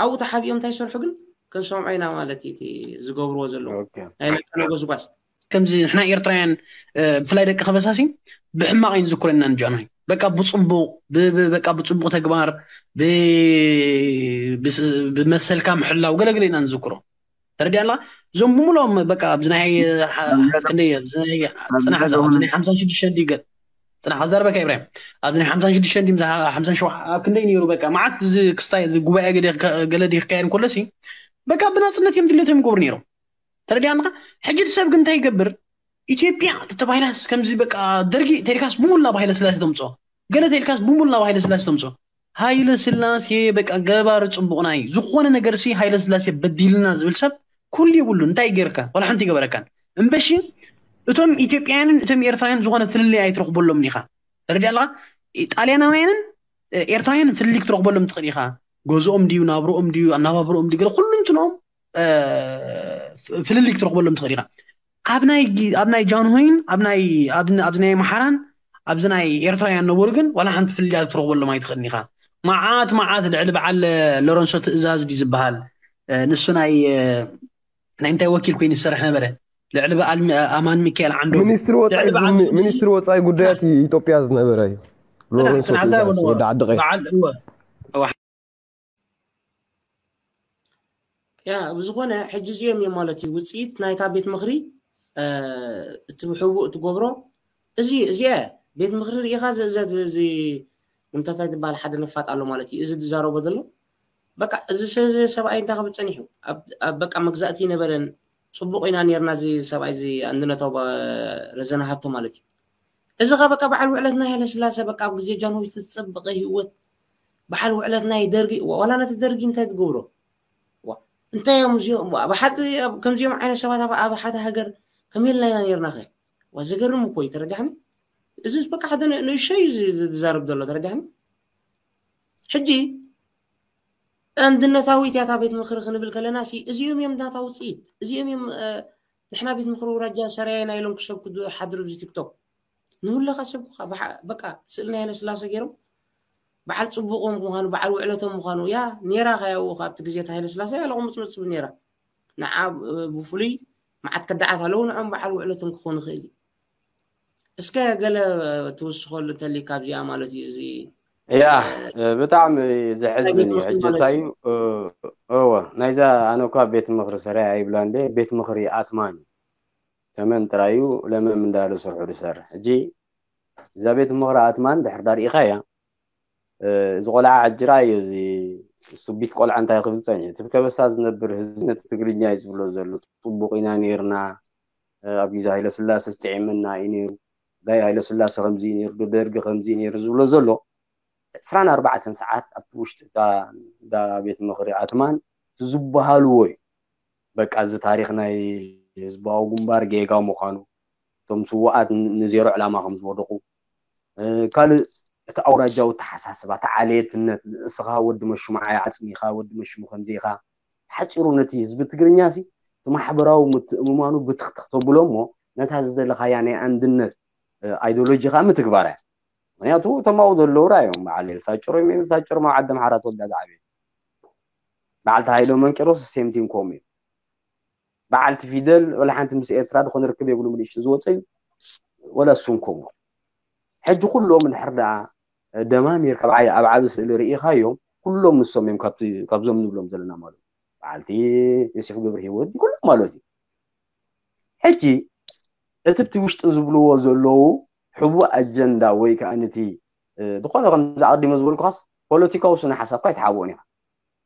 ኣብኡ ተሓቢኦም እንታይ ይሰርሑ ግን ክንሰምዖ ኢና ማለት እዩ ዝገብርዎ ዘለዉ ናይ ነፃ ጎስጓስ ከምዚ ንሕና ኤርትራውያን ብፍላይ ደቂ ከበሳሲ ብሕማቕ እዩ ዝዝክሮ ኢና ንጃንሆይ በቃ ብፅቡቕ በቃ ብፅቡቕ ተግባር ብመሰልካ ምሕላው ገለገለ ኢና ንዝክሮ ተረዲኣላ እዞም ብምሎም በቃ ኣብዚ ናይ ክንደይ ኣብዚ ናይ ፅናሕ ኣብዚ ናይ ሓምሳን ሽዱሽተን ድዩ ገ ፅናሕ ኣዛርበካ ኢብራሂም ኣብዚ ናይ ሓምሳን ሽዱሽተን ድዩ ሓምሳን ሸውዓተ ኣብ ክንደይ ነይሩ በቃ መዓት እዚ ክስታይ እዚ ጉባኤ ገለ ድዩ ክካየድ እንከሎ ሲ በቃ ብናፅነት እዮም ድሌቶም ይገብሩ ነይሮም ተረዲኣልካ ሕጂ እቲ ሰብ ግን እንታይ ይገብር ኢትዮጵያ ተባሂላስ ከምዚ በቃ ደርጊ ተሪካስ ብሙሉ ናብ ሃይለ ስላሴ ተምፅኦ ገለ ተሪካስ ብሙሉ ናብ ሃይለ ስላሴ ተምፅኦ ሃይለ ስላሴ በቃ ገባሪ ፅቡቕና እዩ ዝኾነ ነገር ሲ ሃይለ ስላሴ በዲልና ዝብል ሰብ ኩሉ የብሉ እንታይ ገርካ ወላ ሓንቲ ገበረካን እምበሺ እቶም ኢትዮጵያውያንን እቶም ኤርትራውያን ዝኾነ ፍልልይ ኣይትረኽበሎም ኢኻ ተረዲኣልካ ጣልያናውያንን ኤርትራውያን ፍልልይ ክትረኽበሎም ትኽእል ኢኻ ገዝኦም ድዩ ናብርኦም ድዩ ኣናባብርኦም ድዩ ገለ ኩሉ እንትንኦም ፍልልይ ክትረኽበሎም ትኽእል ኢኻ ኣብ ናይ ጃንሆይን ኣብዚ ናይ ኣምሓራን ኣብዚ ናይ ኤርትራውያን ነበሩ ግን ዋላ ሓንቲ ፍልልያት ክትረኽበሎም ኣይትኽእልን ኢኻ። መዓት መዓት ልዕሊ በዓል ሎረንሶ ትእዛዝ ድዩ ዝበሃል፣ ንሱ ናይ ናይ እንታይ ወኪል ኮይኑ ዝሰርሕ ነበረ? ልዕሊ በዓል ኣማን ሚካኤል ዓንዶ፣ ሚኒስትሪ ወፃኢ ጉዳያት ኢትዮጵያ ዝነበረ እዩ። ሎረንሶ ትእዛዝ ወዲ ዓዲ ቀይሕ። ያ ብዝኾነ ሕጂ እዚኦም እዮም ማለት እዩ ውፅኢት ናይታ ቤት ምኽሪ እቲ ብሕቡእ ትገብሮ እዚ እዚኣ ቤት ምኽሪ ርኢኻ እዚ ምንታታይ ዝበሃል ሓደ ነፋጥ ኣሎ ማለት እዩ። እዚ ዝዛረቦ ዘሎ በቃ እዚ ሰብኣይ እንታይ ክብል ፀኒሑ በቃ መግዛእቲ ይነበረን ፅቡቕ ኢና ነርና እዚ ሰብኣይ እዚ ኣንድነታዊ ረዘነ ሃብቶ ማለት እዩ። እዚ ኸ በቃ በዓል ውዕለት ናይ ሃይለስላሰ በቃ ኣብ ግዜ ጃንሆይ ዝተፀበቐ ህይወት በዓል ውዕለት ናይ ደርጊ ዋላ ነቲ ደርጊ እንታይ ትገብሮ እንታይ እዮም እዚኦም ብሓቂ ከምዚኦም ዓይነት ሰባት ኣብ ሓደ ሃገር ከመይ ኢልና ኢና ነርና ኸ? ዋ ዘገርም እኮ እዩ ተረዳሕኒ። እዚ በቃ ሓደ ንእሸይ ዝዛረብ ዘሎ ተረዳሕኒ። ሕጂ ኣንድነታዊት ያታ ቤት ምኽሪ ክንብል ከለና ሲ እዚኦም እዮም ናታ ውፅኢት እዚኦም እዮም ንሕና ቤት ምኽሪ ውራጃ ሰራየና ኢሎም ክሰብኩ ሓድሩ ኣብዚ ቲክቶክ ንሁለኻ ሰብኩኻ በቃ ስእሊ ናይ ሃይለስላሰ ገይሮም በዓል ፅቡቆም ምዃኑ በዓል ውዕለቶም ምዃኑ ያ ኔራ ከያው ካብቲ ግዜ ሃይለስላሰ ያለቑ ምፅምፅ ትብል ኔራ ንዓ ብፍሉይ መዓት ከዳዓት ኣለዉ ንዖም በዓል ውዕለቶም ክኾኑ ይኽእል እዩ። እስከ ገለ ትውስኸሉ እንተሊካ ኣብዚኣ ማለት እዩ እዚ ያ ብጣዕሚ ዘሕዝን እዩ። ሕጂ እንታይ እዩ እወ ናይዛ ኣነ እኳ ቤት ምኽሪ ሰራይ ኣይብላ እንደ ቤት ምኽሪ ኣትማን እዩ። ተመን ጥራይ እዩ ለመም እንዳለ ስርሑ ዝሰርሕ። ሕጂ እዛ ቤት ምኽሪ ኣትማን ድሕር ዳርኢኻ እያ እዚ ቆልዓ ሕጂ ራእዮ እዚ ስቱቢት ቆልዓ እንታይ ክብል ፀኒሑ እቲ ከበሳ ዝነብር ህዝቢ ነቲ ትግርኛ እዩ ዝብሎ ዘሎ። ፅቡቅ ኢና ነይርና ኣብ ግዜ ሃይለስላሰ ስጥዒምና እዩ ነይሩ። ዳይ ሃይለስላሰ ከምዚ እዩ ነይሩ ዶ ደርጊ ከምዚ እዩ ነይሩ ዝብሎ ዘሎ ዕስራን ኣርባዕተን ሰዓት ኣብቲ ውሽጢ እታ እንዳ ቤት ምኽሪ ኣትማን እቲ ዝበሃልዎ እዩ። በቃ እዚ ታሪኽ ናይ ህዝባዊ ግንባር ጌጋ ምዃኑ እቶም ስውኣት ንዜሮ ዕላማ ከም ዝወደቑ ካልእ እቲ ኣውራጃዊ ተሓሳስባ እቲ ዓሌትነት ንእስኻ ወዲ መሹምዓይ ዓፅሚ ኢኻ ወዲ መሽሙ ከምዚ ኢኻ ሓፂሩ ነቲ ህዝቢ ትግርኛ ሲ እቲ ማሕበራዊ ምትእምማኑ ብትኽትኽ ተብሎ እሞ ነታ ዝደለኻያ ናይ ኣንድነት ኣይዶሎጂ ከዓ ምትግባር እያ። ምክንያቱ እቶም ኣብኡ ዘለዉ ራእዮም በዓል ኤልሳ ጭሮ እዮም። ኤልሳ ጭሮ ኣብ ዓዲ ኣምሓራ ተወልዳ ዝዓበየ በዓልቲ ሃይለ መንቄሮስ ሴምቲን ኮም እዩ። በዓልቲ ፊደል ወላ ሓንቲ ምስ ኤርትራ ዝኾነ ርክብ የብሉ ምንሽቲ ዝወፀ እዩ። ወላ እሱን ኮም ሕጂ ኩሎም እንድሕር ደኣ ደማሚር ካብ ዓይ ኣብ ዓቢ ስእሊ ርኢኻዮም ኩሎም ንሶም እዮም ካብዞም ንብሎም ዘለና ማለት በዓልቲ ዮሴፍ ገብረ ህይወት ኩሎም ማለት እዩ። ሕጂ እቲ ብቲ ውሽጢ ዝብልዎ ዘለዉ ሕቡእ ኣጀንዳ ወይ ከዓ ነቲ ዝኾነ ከምዚ ኣቐዲመ ዝበልኩኻስ ፖለቲካዊ ስነ ሓሳብካ ኣይትሓብኦን ኢኻ።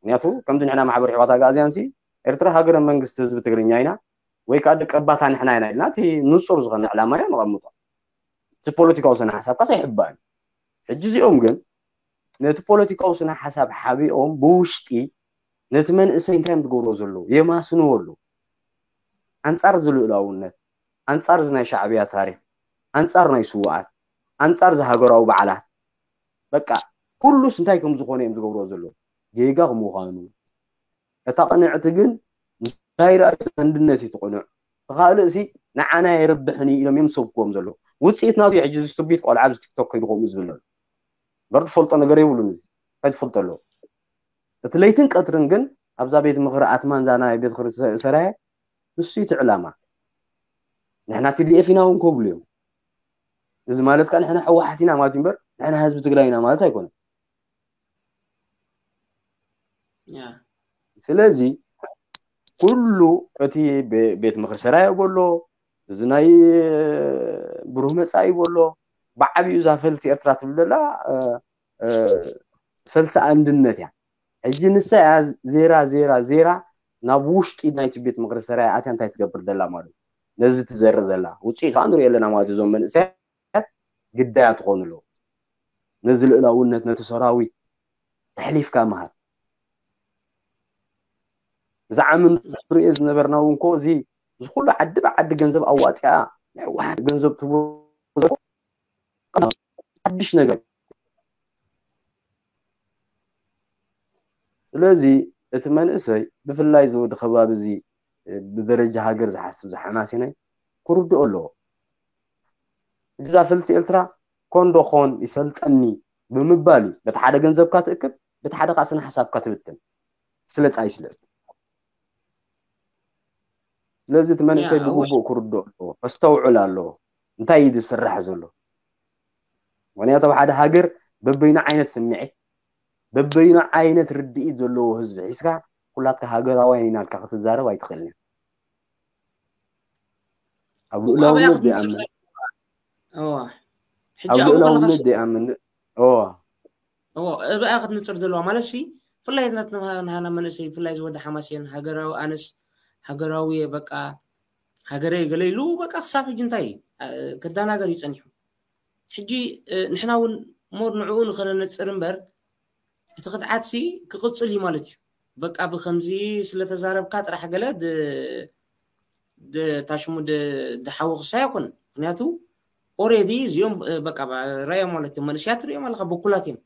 ምክንያቱ ከምዚ ንሕና ማሕበር ሕዋት ኣግኣዝያን ሲ ኤርትራ ሃገረ መንግስቲ ህዝቢ ትግርኛ ኢና ወይ ከዓ ደቀባታ ንሕና ኢና ኢልና እቲ ንፁር ዝኾነ ዕላማ ኢና ነቐምጦ። እቲ ፖለቲካዊ ስነ ሓሳብካስ ኣይሕባእን። ሕጂ እዚኦም ግን ነቲ ፖለቲካዊ ስነ ሓሳብ ሓቢኦም ብውሽጢ ነቲ መንእሰይ እንታይ እዮም ዝገብርዎ ዘለዉ የማስንዎ ኣለዉ። ኣንፃር እዚ ልኡላውነት ኣንፃር እዚ ናይ ሻዕብያ ታሪክ ኣንፃር ናይ ስውኣት ኣንፃር እዚ ሃገራዊ በዓላት በቃ ኩሉስ እንታይ ከም ዝኾነ እዮም ዝገብርዎ ዘለዉ ጌጋ ምዃኑ እታ ቅንዕቲ ግን እንታይ ደኣ ኣንድነት እዩ ትቕኑዕ እቲ ካልእ ሲ ንዓና የርብሕን እዩ ኢሎም እዮም ዝሰብክዎም ዘለዉ ውፅኢት ናቱ እዩ ሕጂ እዚ ስቱቢት ቆልዓ ኣብዚ ቲክቶክ ከይዱ ከምኡ ዝብል ዘሎ እምበር ዝፈልጦ ነገር የብሉን እዚ እንታይ ትፈልጦ ኣለዎ እቲ ለይትን ቀትርን ግን ኣብዛ ቤት ምኽሪ ኣትማን እዛ ናይ ቤት ምኽሪ ሰራየ ንሱ እቲ ዕላማ ንሕና ቲዲኤፍ ኢና እውን ክብሉ እዮም እዚ ማለት ከዓ ንሕና ሕወሓት ኢና ማለት እዩ እምበር ንሕና ህዝቢ ትግራይ ኢና ማለት ኣይኮነን ስለዚ ኩሉ እቲ ቤት ምኽሪ ሰራየ በሎ እዚ ናይ ብሩህ መፃኢ በሎ ብዓብዩ እዛ ፈልሲ ኤርትራ ትብል ዘላ ፈልሲ ኣንድነት እያ ሕጂ ንሳ እያ ዜራ ዜራ ዜራ ናብ ውሽጢ ናይቲ ቤት ምኽሪ ሰራየ ኣትያ እንታይ ትገብር ዘላ ማለት ነዚ ትዘርእ ዘላ ውፅኢቱ ንሪኦ ኣለና ማለት እዞም መንእሰያት ግዳያት ትኾኑ ኣለዉ ነዚ ልእላውነት ነቲ ሰራዊት ተሕሊፍካ ምሃብ እዚ ዓሚ ንሪኦ ዝነበርና እውን ኮ እዚ እዚ ኩሉ ዓዲ ብዓዲ ገንዘብ ኣዋፂኣ ንሕወሓት ገንዘብ ትህቦ ሓድሽ ነገር ስለዚ እቲ መንእሰይ ብፍላይ እዚ ወዲ ከባቢ እዚ ብደረጃ ሃገር ዝሓስብ ዝሓማሴናይ ክርድኦ ኣለዎ እዛ ፈልሲ ኤርትራ ፎንዶ ኾን ይሰልጠኒ ብምባል እዩ። በቲ ሓደ ገንዘብካ ትእክብ፣ በቲ ሓደ ከዓ ስነ ሓሳብካ ትብትን። ስለጣይ ስለጥ ስለዚ እቲ መንእሰይ ብግቡእ ክርድኦ ኣለዎ፣ ከስተውዕል ኣለዎ። እንታይ እዩ ዝስራሕ ዘሎ? ምክንያቱ ኣብ ሓደ ሃገር በበይኑ ዓይነት ስምዒት፣ በበይኑ ዓይነት ርድኢት ዘለዎ ህዝቢ ሒዝካ ኩላትካ ሃገራውያን ኢና ኢልካ ክትዛረብ ኣይትኽእልን። ኣብ ልኡላውነት ዘይኣምን፣ ኣብ ልኡላውነት ዘይኣምን፣ እዋ እዎ እብኣ ክትንፅር ዘለዋ ማለት ሲ ብፍላይ ናትና ናሃና መንእሰይ ብፍላይ ዝወደ ሓማሴን ሃገራዊ ኣነስ ሃገራዊ እየ በቃ ሃገረይ ገለ ኢሉ በቃ ክሳብ ሕጂ እንታይ ከዳናገር እዩ ፀኒሑ። ሕጂ ንሕና እውን ሞር ንዕኡ ንኸነነፅር እምበር እቲ ክድዓት ሲ ክቕፅል እዩ ማለት እዩ። በቃ ብከምዚ ስለተዛረብካ ጥራሕ ገለ ታሽሙ ድሓዊ ክሳይ ኣይኮን ምክንያቱ ኦሬዲ እዚኦም በቃ ራእዮም ማለት እዮም መንእስያት ትሪኦም ኣለካ በኩላት እዮም።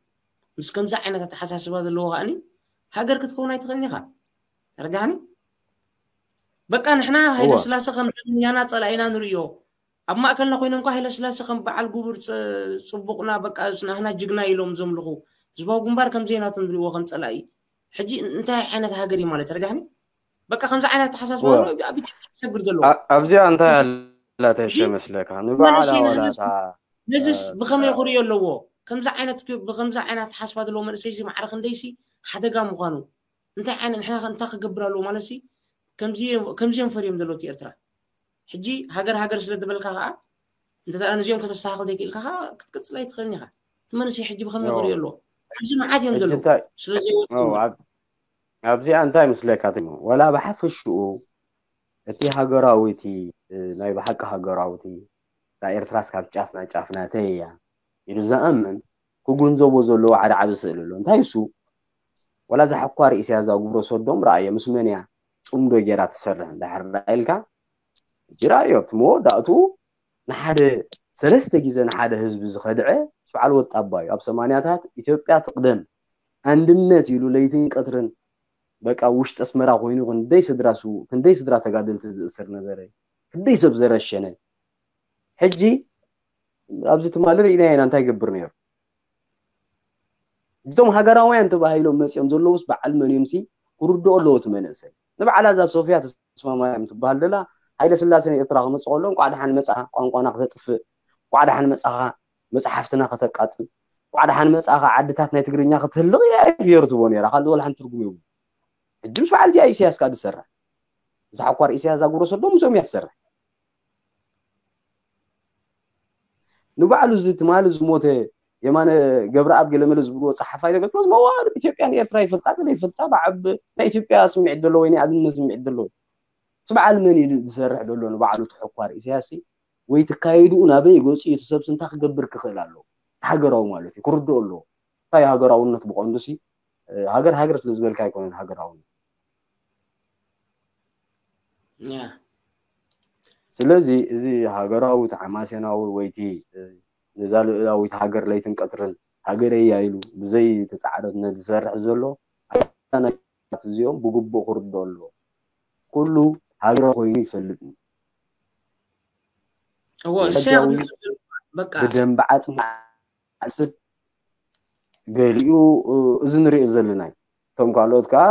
ምስ ከምዚ ዓይነት ኣተሓሳስባ ዘለዎ ከኣኒ ሃገር ክትከውን ኣይትኽእልን ኢኻ። ተረዳኒ? በቃ ንሕና ሃይለ ስላሴ ከም ደምኛና ፀላኢና ንርእዮ። ኣብ ማእከልና ኮይኖም እኳ ሃይለ ስላሴ ከም በዓል ጉቡር ፅቡቕና በቃ ናህና ጅግና ኢሎም ዘምልኹ ህዝባዊ ግንባር ከም ዘይናቶም ዝርእዎ ከም ፀላኢ ሕጂ እንታይ ዓይነት ሃገር እዩ ማለት ተረዳኒ? በቃ ከምዚ ዓይነት ኣተሓሳስባ ኣብ ኢትዮጵያ ሰግር ዘሎ ኣብዚኣ እንታይ ኣላተሸ መስለካ ንባዕላ ወላታ ነዚስ ብኸመይ ክርእዮ ኣለዎ? ከምዚ ዓይነት ብከምዚ ዓይነት ኣተሓስባ ዘለዎ መንእሰይ ሲ ማዕረ ክንደይሲ ሓደጋ ምዃኑ እንታይ ዓይነት ንሕና እንታይ ክገብር ኣለዎ ማለት ሲ ከምዚኦም ፈርዮም ዘለውቲ ኤርትራ ሕጂ ሃገር ሃገር ስለ ዝበልካ ከዓ እንተ ነዚኦም ከተስተካክል ዘይክእልካ ከዓ ክትቅፅል ኣይትኽእልን ኢኻ። እቲ መንእሰይ ሕጂ ብኸመይ ክርእዮ ኣለዎ? ኣብዚ መዓት እዮም ዘለዉ ስለዚ ኣብዚኣ እንታይ ምስለካ ዋላ ብሓፈሽኡ እቲ ሃገራዊ እቲ ናይ ብሓቂ ሃገራዊ እቲ እታ ኤርትራስ ካብ ጫፍ ናብ ጫፍ ናተይ እያ ኢሉ ዝኣምን ክግንዘቦ ዘለዎ ሓደ ዓቢ ስእሊ ኣሎ። እንታይ እሱ ዋላ እዛ ሕኳር ኢሳያስ እዛ ግብረ ሰዶም ረኣየ ምስ መን እያ ጽምዶ ጌራ ትሰርሕ እንድሕር ኢልካ ሕጂ ረኣዮ እቲ መወዳእትኡ ንሓደ ሰለስተ ግዜ ንሓደ ህዝቢ ዝኸድዐ ምስ በዓል ወጣባ እዩ። ኣብ ሰማንያታት ኢትዮጵያ ትቕደም ኣንድነት ኢሉ ለይትን ቀትርን በቃ ውሽጢ ኣስመራ ኮይኑ ክንደይ ስድራ ስውእ ክንደይ ስድራ ተጋደልቲ ዝእስር ነበረ ክንደይ ሰብ ዘረሸነ ሕጂ ኣብዚ ትማሊ ርኢናዮ ኢና እንታይ ይገብር ነይሩ እቶም ሃገራውያን ተባሂሎም መፅኦም ዘለውስ በዓል መን እዮም ሲ ክርድኦ ኣለዎ እቲ መንእሰይ ንበዓላ እዛ ሶፍያ ተስፋማርያም ትበሃል ዘላ ሃይለ ስላሴ ንኤርትራ ክመፅእ ከሎ እንቋዕ ደሓን መፅኣ ቋንቋና ክተጥፍእ እንቋዕ ደሓን መፅኻ መፅሓፍትና ከተቃፅል እንቋዕ ደሓን መፅኻ ዓድታት ናይ ትግርኛ ክትህልቕ ኢላ እየ ፊየር ትቦ ነይራ ካልእ ወላ ሓንቲ ትርጉም የብሉ ሕጂ ምስ በዓል እዚኣ ኢሳያስ ከዓ ዝሰርሕ እዛ ሓኳር ኢሳያስ ዛጉረሰ ዶ ምስኦም እያ ትሰርሕ ንባዕሉ እዚ ትማሊ ዝሞተ የማነ ገብረኣብ ገለመለ ዝብልዎ ፀሓፋይ ነገር ዝመዋሉ ኢትዮጵያ ንኤርትራ ይፈልጣ ገለ ይፈልጣ ብዓብ ናይ ኢትዮጵያ ስምዒት ዘለዎ ወይ ናይ ኣድነት ስምዒት ዘለዎ እቲ በዓል መን እዩ ዝሰርሕ ዘሎ ንባዕሉ ተሐኳር ኢሳያስ ወይ ትካየድኡ ናበይ ገፂኡ እቲ ሰብሲ እንታይ ክገብር ክኽእል ኣለዎ ሃገራዊ ማለት እዩ ክርድኦ ኣለዎ እንታይ ሃገራውነት ብቐንዱ ሲ ሃገር ሃገር ስለ ዝበልካ ኣይኮነን ሃገራውነት ስለዚ እዚ ሃገራዊ ተሓማሴናዊ ወይቲ ነዛ ልእላዊት ሃገር ለይትን ቀትርን ሃገረይ እያ ኢሉ ብዘይ ተፃዕረትነት ዝሰርሕ ዘሎ ኣናት እዚኦም ብግቡእ ክርድኦ ኣለዎ ኩሉ ሃገራዊ ኮይኑ ይፈልጥ እዩ ብደንቢ ዓፅሚ ዓስብ ገሊኡ እዚ ንሪኦ ዘለና እዩ እቶም ካልኦት ከዓ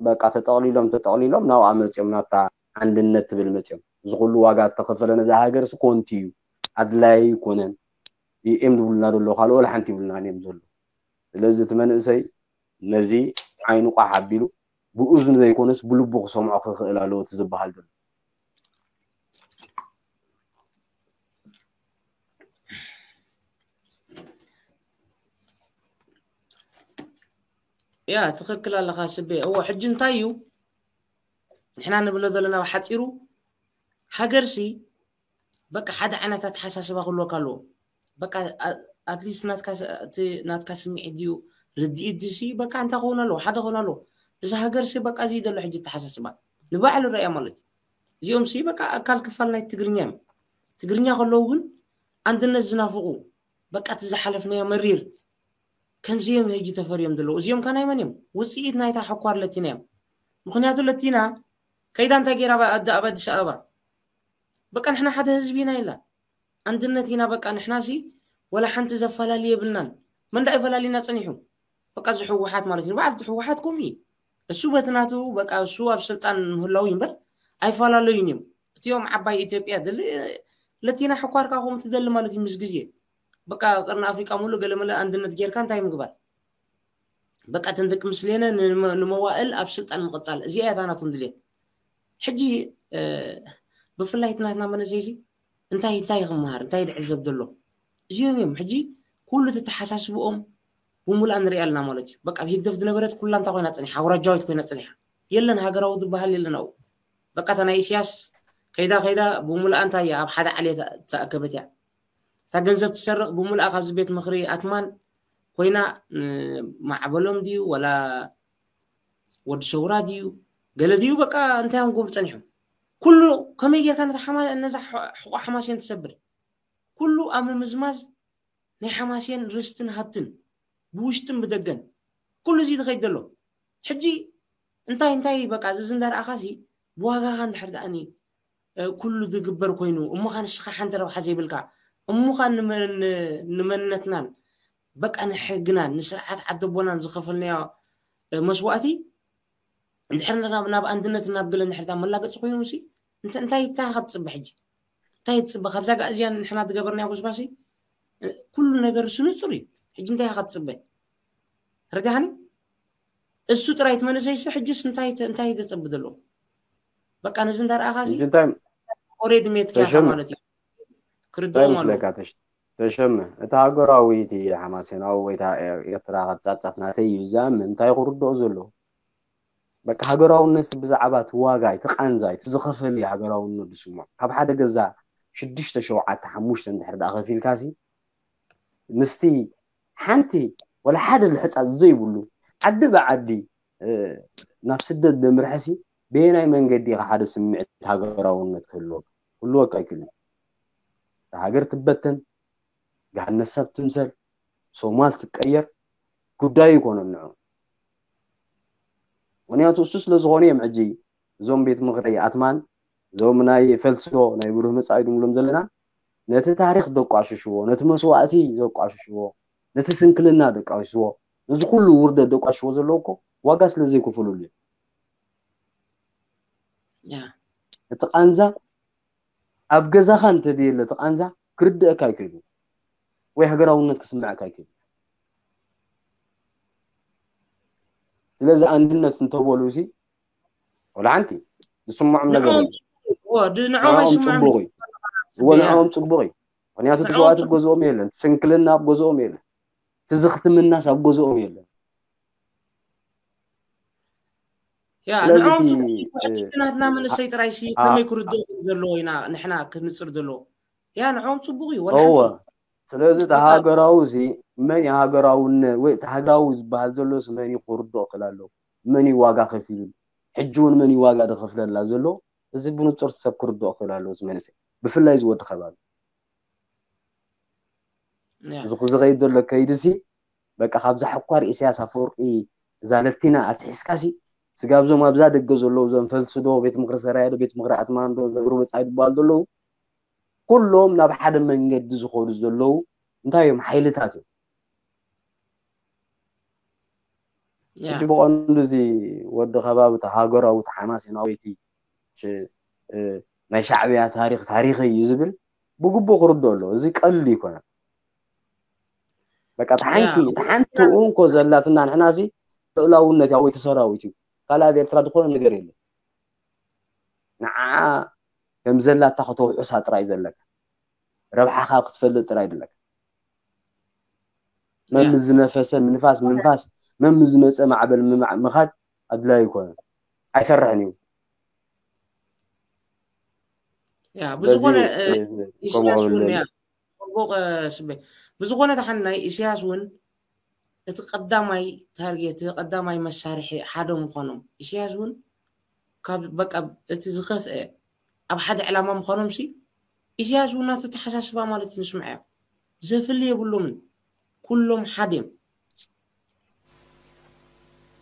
በቃ ተጠቕሊሎም ተጠቕሊሎም ናብኣ መፅኦም ናብታ ዓንድነት ትብል መፅኦም እዚ ኩሉ ዋጋ ዝተኸፈለ ነዛ ሃገር ሲ ኮንቲ እዩ ኣድላይ ኣይኮነን እዮም ዝብሉና ዘሎ ካልኦ ሓንቲ ይብሉና እዮም ዘሎ ስለዚ እቲ መንእሰይ ነዚ ዓይኑ ቋሕ ኣቢሉ ብእዝኑ ዘይኮነስ ብልቡ ክሰምዖ ክኽእል ኣለዎ እቲ ዝበሃል ዘሎ ያ ትኽክል ኣለኻ ስቤ እዎ ሕጂ እንታይ እዩ ንሕና ንብሎ ዘለና ብሓፂሩ ሃገርሲ በቃ ሓደ ዓይነት ኣተሓሳስባ ክህልወካ ኣለዎ በቃ ኣትሊስት ናትካ ስምዒት ድዩ ርድኢት ድሲ በቃ እንታይ ክኸውን ኣለዎ ሓደ ክኸውን ኣለዎ እዚ ሃገርሲ በቃ እዚ ዘሎ ሕጂ ኣተሓሳስባ ንባዕሉ ረእያ ማለት እዚኦም ሲ በቃ ኣካል ክፋል ናይ ትግርኛ እዮም ትግርኛ ከለዉ ግን ኣንድነት ዝናፍቑ በቃ እቲ ዝሓለፍናዮ መሪር ከምዚ እዮም ሕጂ ተፈርዮም ዘለዉ እዚኦም ከ ናይ መን እዮም ውፅኢት ናይታ ሕኳር ለቲና እዮም ምክንያቱ ለቲና ከይዳ እንታይ ገይራ ኣደ ኣብ ኣዲስ ኣበባ በቃ ንሕና ሓደ ህዝቢ ኢና ኢላ ኣንድነት ኢና በቃ ንሕና ሲ ወላ ሓንቲ ዘፈላሊ የብልናን። መን ደኣ ይፈላሊና ጸኒሑ? በቃ እዚ ህወሓት ማለት እዩ። በዓል እቲ ህወሓት ከምኡ እዩ። እሱ በቲ ናቱ በቃ እሱ ኣብ ስልጣን ምህላው እዩ እምበር ኣይፈላለዩን እዮም። እቲኦም ዓባይ ኢትዮጵያ ደሊ ለቲና ሕኳርካ ከምኡ ትደሊ ማለት እዩ ምስ ግዜ። በቃ ቅርኒ ኣፍሪቃ ሙሉ ገለመለ ኣንድነት ጌርካ እንታይ ምግባር? በቃ እተን ደቂ ምስሌነ ንመ- ንመዋእል ኣብ ስልጣን ምቕጻል እዚኣ እያ እታ ናቶም ድሌት። ሕጂ እ፣ ብፍላይ እቲ ናትና መነዘይዚ እንታይ እንታይ ክመሃር እንታይ ድዕዘብ ዘሎ እዚኦም እዮም። ሕጂ ኩሉ ተተሓሳስብኦም ብሙሉኣ ንሪኣ ኣለና ማለት እዩ። በቃ ኣብ ህግደፍ ዝነበረት ኩላ እንታይ ኮይና ጸኒሓ? ኣውራጃዊት ኮይና ጸኒሓ። የለን ሃገራዊ ዝበሃል የለን ኣብኡ። በቃ እታ ናይ ኢሳያስ ከይዳ ከይዳ ብሙሉኣ እንታይ እያ ኣብ ሓደ ዓሌት ተኣከበት እያ። እታ ገንዘብ ትሰርቕ ብሙሉኣ ካብዚ ቤት ምኽሪ ኣትማን ኮይና ማዕበሎም ድዩ ወላ ወዲ ሰውራ ድዩ ገለ ድዩ በቃ እንታይ እዮም ክገብሩ ጸኒሖም? ኩሉ ከመይ ጌርካ ነታ ሓማ- ነዛ ሕ- ሕቖ ሓማሴን ትሰብር? ኩሉ ኣብ ምምዝማዝ ናይ ሓማሴን ርስትን ሃብትን ብውሽጥን ብደገን ኩሉ እዚ ዝኸይድ ዘሎ ሕጂ እንታይ እንታይ በቃ እዚ እንዳረኣኻሲ ብዋጋኻ እንድሕር ደኣኒ ኩሉ ዝግበር ኮይኑ እሞኻ ንስኻ ሓንቲ ረብሓ ዘይብልካ እሞኻ ንመንነትናን በቃ ንሕግናን ንስርዓት ዓደቦናን ዝኸፈልናዮ መስዋእቲ እንድሕር ናብ ናብ ኣንድነት ናብ ገለ እንድሕር መላገፂ ኮይኑ ሲ እንታይ እንታይ እንታይ ክትፅበ ሕጂ እንታይ ትፅበ ካብዛ ጋእዝያን ንሕና ዝገበርናዮ ጎስጓሲ ኩሉ ነገር ስንፁር እዩ ሕጂ እንታይ ክትፅበ ርዳህኒ እሱ ጥራይ እቲ መንእሰይሲ ሕጅስ እንታይ እንታይ ዘጸብእ ዘሎ በቃ ነዚ እንዳረኣኻ ሲ እንታይ ኦሬድ ሜትካ ኢኻ ተሸመ ማለት እዩ እንታይ ክርድኦም ኣለዎ ምስለካ ተሽ- ተሸመ እቲ ሃገራዊ እቲ ሓማሴናዊ ወይ እታ ኤርትራ ካብ ጻፍጻፍ ናተይ እዩ ዝኣምን እንታይ ክርድኦ ዘሎ በቃ ሃገራውነት ብዛዕባ እቲ ዋጋ እቲ ቃንዛ እቲ ዝኸፈል እዩ ሃገራውነት ዝስምዖ ካብ ሓደ ገዛ ሽዱሽተ ሸውዓተ ሓሙሽተ እንድሕር ደኣ ከፊልካ ሲ ምስቲ ሓንቲ ወላ ሓደ ልሕፃፅ ዘይብሉ ዓዲ ብዓዲ ናብ ስደት ደምርሐሲ በየናይ መንገዲ ኢኻ ሓደ ስምዒት ሃገራውነት ክህልወካ ክህልወካ ኣይክእልን ሃገር ትበተን ገሃነት ሰብ ትምሰል ሶማል ትቀየር ጉዳዩ ይኮነን ንዑ ምክንያቱ እሱ ስለዝኾነ እዮም ሕጂ እዞም ቤት ምኽሪ ኣትማን እዞም ናይ ፈልስዶ ናይ ብሩህ መጻኢ ድንብሎም ዘለና ነቲ ታሪኽ ደቋሽሽዎ ነቲ መስዋእቲ ዘቋሽሽዎ ነቲ ስንክልና ደቋሽሽዎ ነዚ ኩሉ ውርደት ደቋሽሽዎ ዘለዉ እኮ ዋጋ ስለ ዘይከፈሉሉ እዮም እቲ ቃንዛ ኣብ ገዛኻ እንተደየለ እቲ ቃንዛ ክርድአካ ኣይክእሉ ወይ ሃገራውነት ክስምዐካ ኣይክእሉ ስለዚ ኣንድነት እንተበሉ እዚ ወላ ሓንቲ ዝስምዖም ነገር ንዕኦም የለን። ጽቡቕ እዩ። እዎ፣ ድ- ንዕኦም ንዕኦም ኣይስምዖም ጽቡቕ እዩ። እዩ። እዎ፣ ንዕኦም ጽቡቕ እዩ። ምኽንያቱ እቲ ንዕኦም ሰብኣት ጽቡቕ ገዝኦም የለን፣ እቲ ስንክልና ኣብ ገዝኦም የለን፣ እቲ ዝኽትምናስ ኣብ ገዝኦም የለን። ያ ስለዚ ንዕኦም እቲ ጽቡቕ እዩ። እ፣ ሕጂ እቲ ናትና እ፣ መንእሰይ ጥራይ ሲ ኣ- ከመይ ክርድኦ ከም ዘለዎ ኢና ንሕና ክንጽር ዘለዎ። ያ ንዕኦም ጽቡቕ እዩ። ወላ እወ። ሓንቲ ስለዚ እቲ በቃ ሃገራዊ እዚ መን እዩ ሃገራውነት ወይ እቲ ሃገራዊ ዝበሃል ዘሎ ሲ መን እዩ ክርድኦ ክእል ኣለዎ? መን እዩ ዋጋ ከፊሉ? ሕጂ እውን መን እዩ ዋጋ ዝኸፍለላ ዘሎ? እዚ ብንጹር እቲ ሰብ ክርድኦ ክእል ኣለዎ እዚ መንእሰይ። ብፍላይ እዚ ወዲ ከባቢ። ያ። እዚ ዝኸይድ ዘሎ ከይዲ ሲ በቃ ካብዛ ሕኳር ኢሳያስ ኣፈወርቂ እዛ ለቲና ኣትሒዝካ ሲ ስጋብ እዞም ኣብዛ ደገ ዘለዉ እዞም ፈልሲ ዶ ቤት ምክሪ ሰራየ ዶ ቤት ምክሪ ኣትማን ዶ ዘብሩ መጻኢ ዝበሃሉ ዘለዉ ኩሎም ናብ ሓደ መንገዲ ዝኸዱ ዘለዉ እንታይ እዮም ሓይልታት እዮም ያ። ሕጂ ብቐንዱ እዚ ወዲ ከባቢ እቲ ሃገራዊ እቲ ሓማሴናዊ እቲ ሽ- እ፣ ናይ ሻዕብያ ታሪክ ታሪክ እዩ ዝብል ብግቡእ ክርዶ ኣለዎ እዚ ቀልድ ይኮነ በቃ እቲ ሓንቲ ያ። እቲ ሓንቲ እንኮ ዘላትና ንሕና ሲ ልእላውነት ያ ወይ እቲ ሰራዊት እዩ ካልእ ኣብ ኤርትራ ዝኾነ ነገር የለን ንዓ ከም ዘላታ ከተውሕሳ ጥራይ ዘለካ ረብሓኻ ክትፈልጥ ጥራይ ዘለካ መም ዝነፈሰ ምንፋስ ምንፋስ መም ዝመፀ ማዕበል ምማዕ- ምኻድ ኣድላይ ይኮነ ኣይሰርሕን እዩ ያ ብዝኾነ ኢሳያስ እውን ያ ጽቡቕ ስበ ብዝኾነ ተሓን ናይ ኢሳያስ እውን እቲ ቀዳማይ ታርጌት ቀዳማይ መሳርሒ ሓደ ምዃኖም ኢሳያስ እውን ካብ በቃ እቲ ዝኸፍአ ኣብ ሓደ ዕላማ ምዃኖም ሲ ኢሳያስ እውን ናቱ ተሓሳስባ ማለት እዩ ንስምዐዮ ዘፍሊ የብሎምን ኩሎም ሓደ እዮም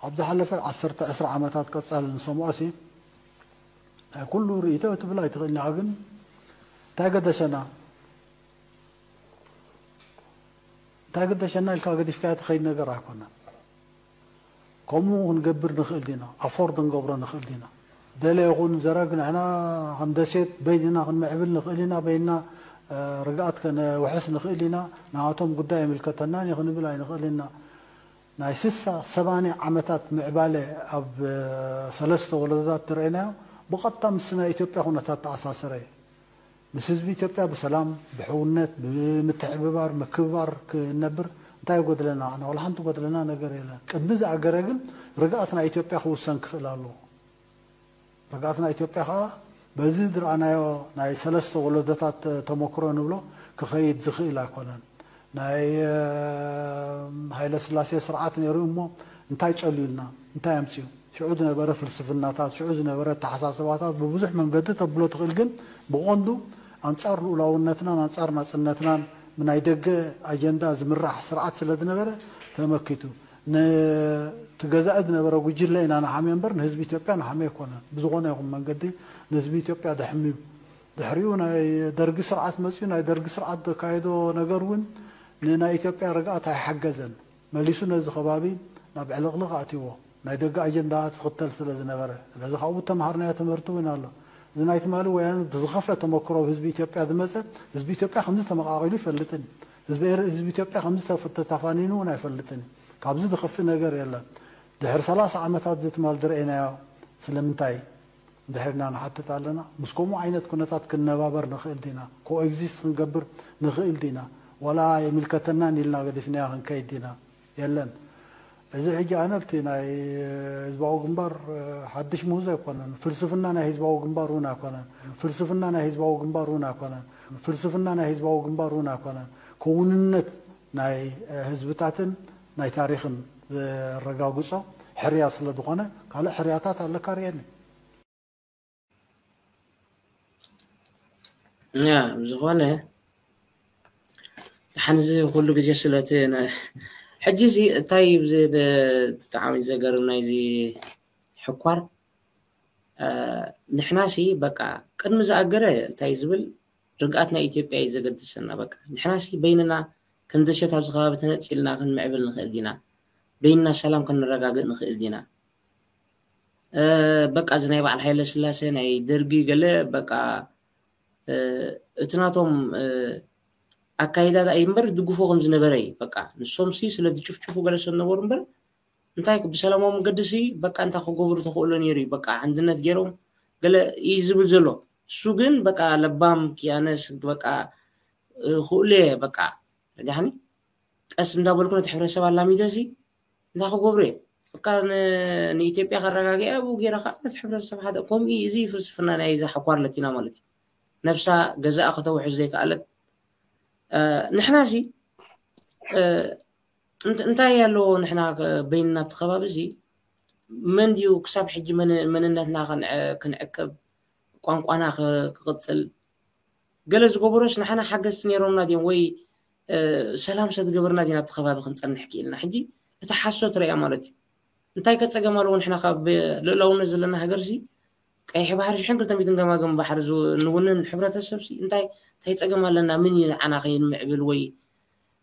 ኣብ ዝሓለፈ ዓሰርተ ዕስራ ዓመታት ቀጻሊ ንሰምዖ ሲ ናይ ኩሉ ርእይቶ ትብል ኣይትኽእልኒ ግን እንታይ ገደሰና እንታይ ግደሸና ኢልካ ገዲፍካዮ ትኸይድ ነገር ኣይኮነን። ከምኡ ክንገብር ንኽእል ዲና? ኣፎርድ ክንገብሮ ንኽእል ዲና? ደለ ይኹን ዘረግ ንሕና ከም ደሴት በይንና ክንምዕብል ንኽእል ኢና፣ በይንና ርግኣት ከነውሕስ ንኽእል ኢና፣ ንኣቶም ጉዳይ ኣይምልከተናን እዩ ክንብል ኣይንኽእል ኢና። ናይ ስሳ ሰማንያ ዓመታት ምዕባለ ኣብ ሰለስተ ወለዶታት ትረአናዮ ብቐጥታ ምስ ናይ ኢትዮጵያ ኩነታት ተኣሳሰረ እዩ። ምስ ህዝቢ ኢትዮጵያ ብሰላም፣ ብሕውነት፣ ብምትሕብባር፣ ምክብባር ክንነብር እንታይ ይጎድለና? ኣነ ዋላ ሓንቲ ጎድለና ነገር የለን። ቅድሚ ዝኣገረ ግን ርግኣት ናይ ኢትዮጵያ ክውሰን ክኽእል ኣለዎ። ርግኣት ናይ ኢትዮጵያ ከዓ በዚ ዝረኣናዮ ናይ ሰለስተ ወለዶታት ተመክሮ ንብሎ ክኸይድ ዝኽእል ኣይኮነን። ናይ ሃይለ ስላሴ ስርዓት ነይሩ እሞ እንታይ ጨልዩልና? እንታይ ኣምፅኡ? ሽዑ ዝነበረ ፍልስፍናታት፣ ሽዑ ዝነበረ ኣተሓሳስባታት ብብዙሕ መንገዲ ተብሎ ትኽእል፣ ግን ብቐንዱ ኣንጻር ልኡላውነትናን ኣንጻር ናጽነትናን ብናይ ደገ ኣጀንዳ ዝምራሕ ስርዓት ስለ ዝነበረ ተመኪቱ። ነቲ ገዛኢ ዝነበረ ጉጅለ ኢና ንሓምዮ እምበር ንህዝቢ ኢትዮጵያ ንሓምዮ ኣይኮነን። ብዝኾነ ይኹን መንገዲ ንህዝቢ ኢትዮጵያ ደሕምዩ። ድሕሪኡ ናይ ደርጊ ስርዓት መፅዩ፣ ናይ ደርጊ ስርዓት ዘካየዶ ነገር እውን ንናይ ኢትዮጵያ ርግኣት ኣይሓገዘን። መሊሱ ነዚ ከባቢ ናብ ዕልቕልቕ ኣእትይዎ። ናይ ደገ ኣጀንዳ ትኽተል ስለ ዝነበረ። ስለዚ ካብኡ ተምሃርናዮ ትምህርቲ እውን ኣሎ። እዚ ናይ ትማሊ ወያነ ዝኸፍአ ተመክሮ ኣብ ህዝቢ ኢትዮጵያ ዝመፀ፣ ህዝቢ ኢትዮጵያ ከምዚ ተመቓቒሉ ይፈልጥን፣ ህዝቢ ኤር-፣ ህዝቢ ኢትዮጵያ ከምዚ ተፍ-፣ ተታፋኒኑ እውን ኣይፈልጥን። ካብዚ ዝኸፍእ ነገር የለን። ድሕሪ ሰላሳ ዓመታት እዚ ትማል ዝረአናዮ ስለምንታይ ድሕርና ንሓትት ኣለና? ምስ ከምኡ ዓይነት ኩነታት ክንነባበር ንኽእል ዲና? ኮኤግዚስት ክንገብር ንኽእል ዲና? ዋላ ኣይምልከተናን ኢልና ገዲፍናዮ ክንከይድ ዲና? የለን። እዚ ሕጂ ኣነ ኣብቲ ናይ ህዝባዊ ግንባር ሓድሽ ምህዞ ኣይኮነን። ፍልስፍና ናይ ህዝባዊ ግንባር እውን ኣይኮነን። ፍልስፍና ናይ ህዝባዊ ግንባር እውን ኣይኮነን። ፍልስፍና ናይ ህዝባዊ ግንባር እውን ኣይኮነን። ክውንነት ናይ ህዝብታትን ናይ ታሪኽን ዘረጋግጾ ሕርያ ስለ ዝኾነ ካልእ ሕርያታት ኣለካ ርእየኒ። ያ ብዝኾነ ደሓን እዚ ኩሉ ግዜ ስለቲ ነ-፣ ሕጂ እዚ እንታይ ብዚ ደ-፣ ብጣዕሚ ዘገርም ናይዚ ሕኳር፣ እ፣ ንሕናሲ በቃ ቅድሚ ዝኣገረ እንታይ ዝብል ርግኣት ናይ ኢትዮጵያ እዩ ዘገድሰና። በቃ ንሕናሲ በይንና ከም ደሴት ኣብዚ ከባቢ ተነጺልና ክንምዕብል ንኽእል ዲና? በይንና ሰላም ከነረጋግእ ንኽእል ዲና? እ፣ በቃ እዚ ናይ በዓል ሃይለ ስላሴ ናይ ደርጊ ገለ በቃ፣ እ፣ እቲ ናቶም፣ እ፣ ኣካይዳ እዩ እምበር ዝድግፎ ከም ዝነበረ እዩ። በቃ ንሶም ሲ ስለ ዝጭፍጭፉ ገለ ሰብ ነበሩ እምበር እንታይ ብሰላማዊ መንገዲ ሲ በቃ እንታይ ክገብሩ ተኽእሎ ነይሩ እዩ። በቃ ኣንድነት ገይሮም ገለ እዩ ዝብል ዘሎ። እሱ ግን በቃ ለባም ክያነስ በቃ፣ እ፣ ክእሉ እየ በቃ። ረዳሕኒ? ቀስ እንዳበልኩ ነቲ ሕብረተሰብ ኣላሚደ ሲ እንታይ ክገብሩ እየ? በቃ ን-፣ ንኢትዮጵያ ከረጋግያ ኣብኡ ገይረ ከዓ ነቲ ሕብረተሰብ ሓደ ከምኡ እዩ። እዚ ፍልስፍና ናይ እዛ ሕኳር ለቲና ማለት እዩ። ነብሳ ገዛኣ ከተውሕስ ዘይከኣለት፣ እ፣ ንሕና ሲ፣ እ፣ እንት-፣ እንታይ ኣለዎ ንሕና ከ-፣ በይንና ኣብቲ ከባቢ እዚ መን ድዩ ክሳብ ሕጂ መን-፣ መንነትና ክንዕ-፣ ክንዕቅብ፣ ቋንቋና ክ-፣ ክቕጽል፣ ገለ ዝገበሮስ ንሓና ሓገዝቲ ነይሮምና ድዮም ወይ፣ እ፣ ሰላም ሰትገበርና ዲና ኣብቲ ከባቢ ክንጸንሕ ክኢልና? ሕጂ እቲ ሓሶት ርያ ማለት እዩ። እንታይ ከ ጸገም ኣለዎ? ንሕና ካብ ልእላውነት ዘለና ሃገር ሲ ቀይሕ ባሕሪ ሽሕን ክልተ ሚእትን ገማግም ባሕሪ ዝ-፣ ንውንን ሕብረተሰብ ሲ እንታይ፣ እንታይ ጸገም ኣለና? ምን እዩ ንዓና ከይንምዕብል ወይ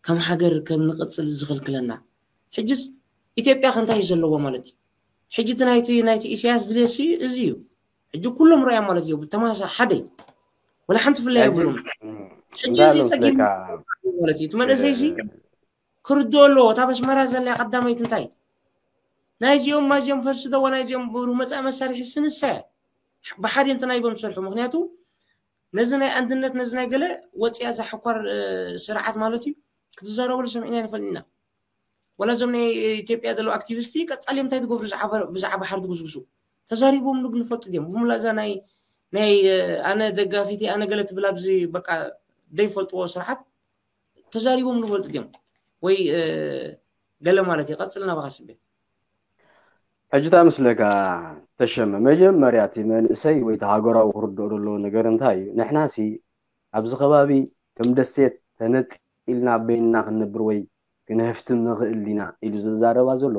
ከም ሃገር ከም ንቕጽል ዝኽልክለና? ሕጅስ ኢትዮጵያ ከ እንታይ እዩ ዘለዎ ማለት እዩ? ሕጂ እቲ ናይቲ፣ ናይቲ ኢሳያስ ድሌት ሲ እዚ እዩ። ሕጂ ኩሎም ርያ ማለት እዩ። ብተማሳ ሓደ እዩ። ወላ ሓንቲ ፍላይ የብሉም። ሕጂ እዚ እንዳሎም ጸጊም ስለካ ማለት እዩ። እቲ መንእሰይ ሲ ክርድኦ ኣለዎ። እታ በስመራ ዘላ ቀዳመይቲ እንታይ? ናይዚኦም ማዚኦም ፈልሲ ደዋ ናይዚኦም ብሩህ መጻኢ መሳርሒ ስንሳ እያ። ብሓደ እንተ ናይ ቦም ዝሰርሑ። ምኽንያቱ ነዚ ናይ ኣንድነት፣ ነዚ ናይ ገለ ወጽያ ዘሕኳር፣ እ፣ ስርዓት ማለት እዩ። ክትዛረበሉ ሰሚዕና ኣይንፈልጥና። ወላ እዞም ናይ ኢትዮጵያ ዘለዉ ኣክቲቪስቲ ቀጻሊ እንታይ ትገብሩ ብዛዕባ፣ ብዛዕባ ሓር ትጉስጉሱ? ተዛሪቦምሉ ግን ይፈልጡ ድዮም? ብሙላ እዛ ናይ፣ ናይ፣ እ፣ ኣነ ደጋፊቲ፣ ኣነ ገለ ትብል ኣብዚ በቃ ዘይፈልጥዎ ስርዓት ተዛሪቦምሉ ይፈልጡ ድዮም? ወይ፣ እ፣ ገለ ማለት እዩ። ቀጽልና ብኻ ስቤ። ሕጂ እንታይ መስለካ ተሸመ፣ መጀመርያ እቲ መንእሰይ ወይ እቲ ሃገራዊ ክርድኦ ዘለዎ ነገር እንታይ እዩ? ንሕናሲ ኣብዚ ከባቢ ከም ደሴት ተነጺልና በይንና ክንነብር ወይ ክንህፍትም ንኽእል ዲና ኢሉ ዝዛረባ ዘሎ፣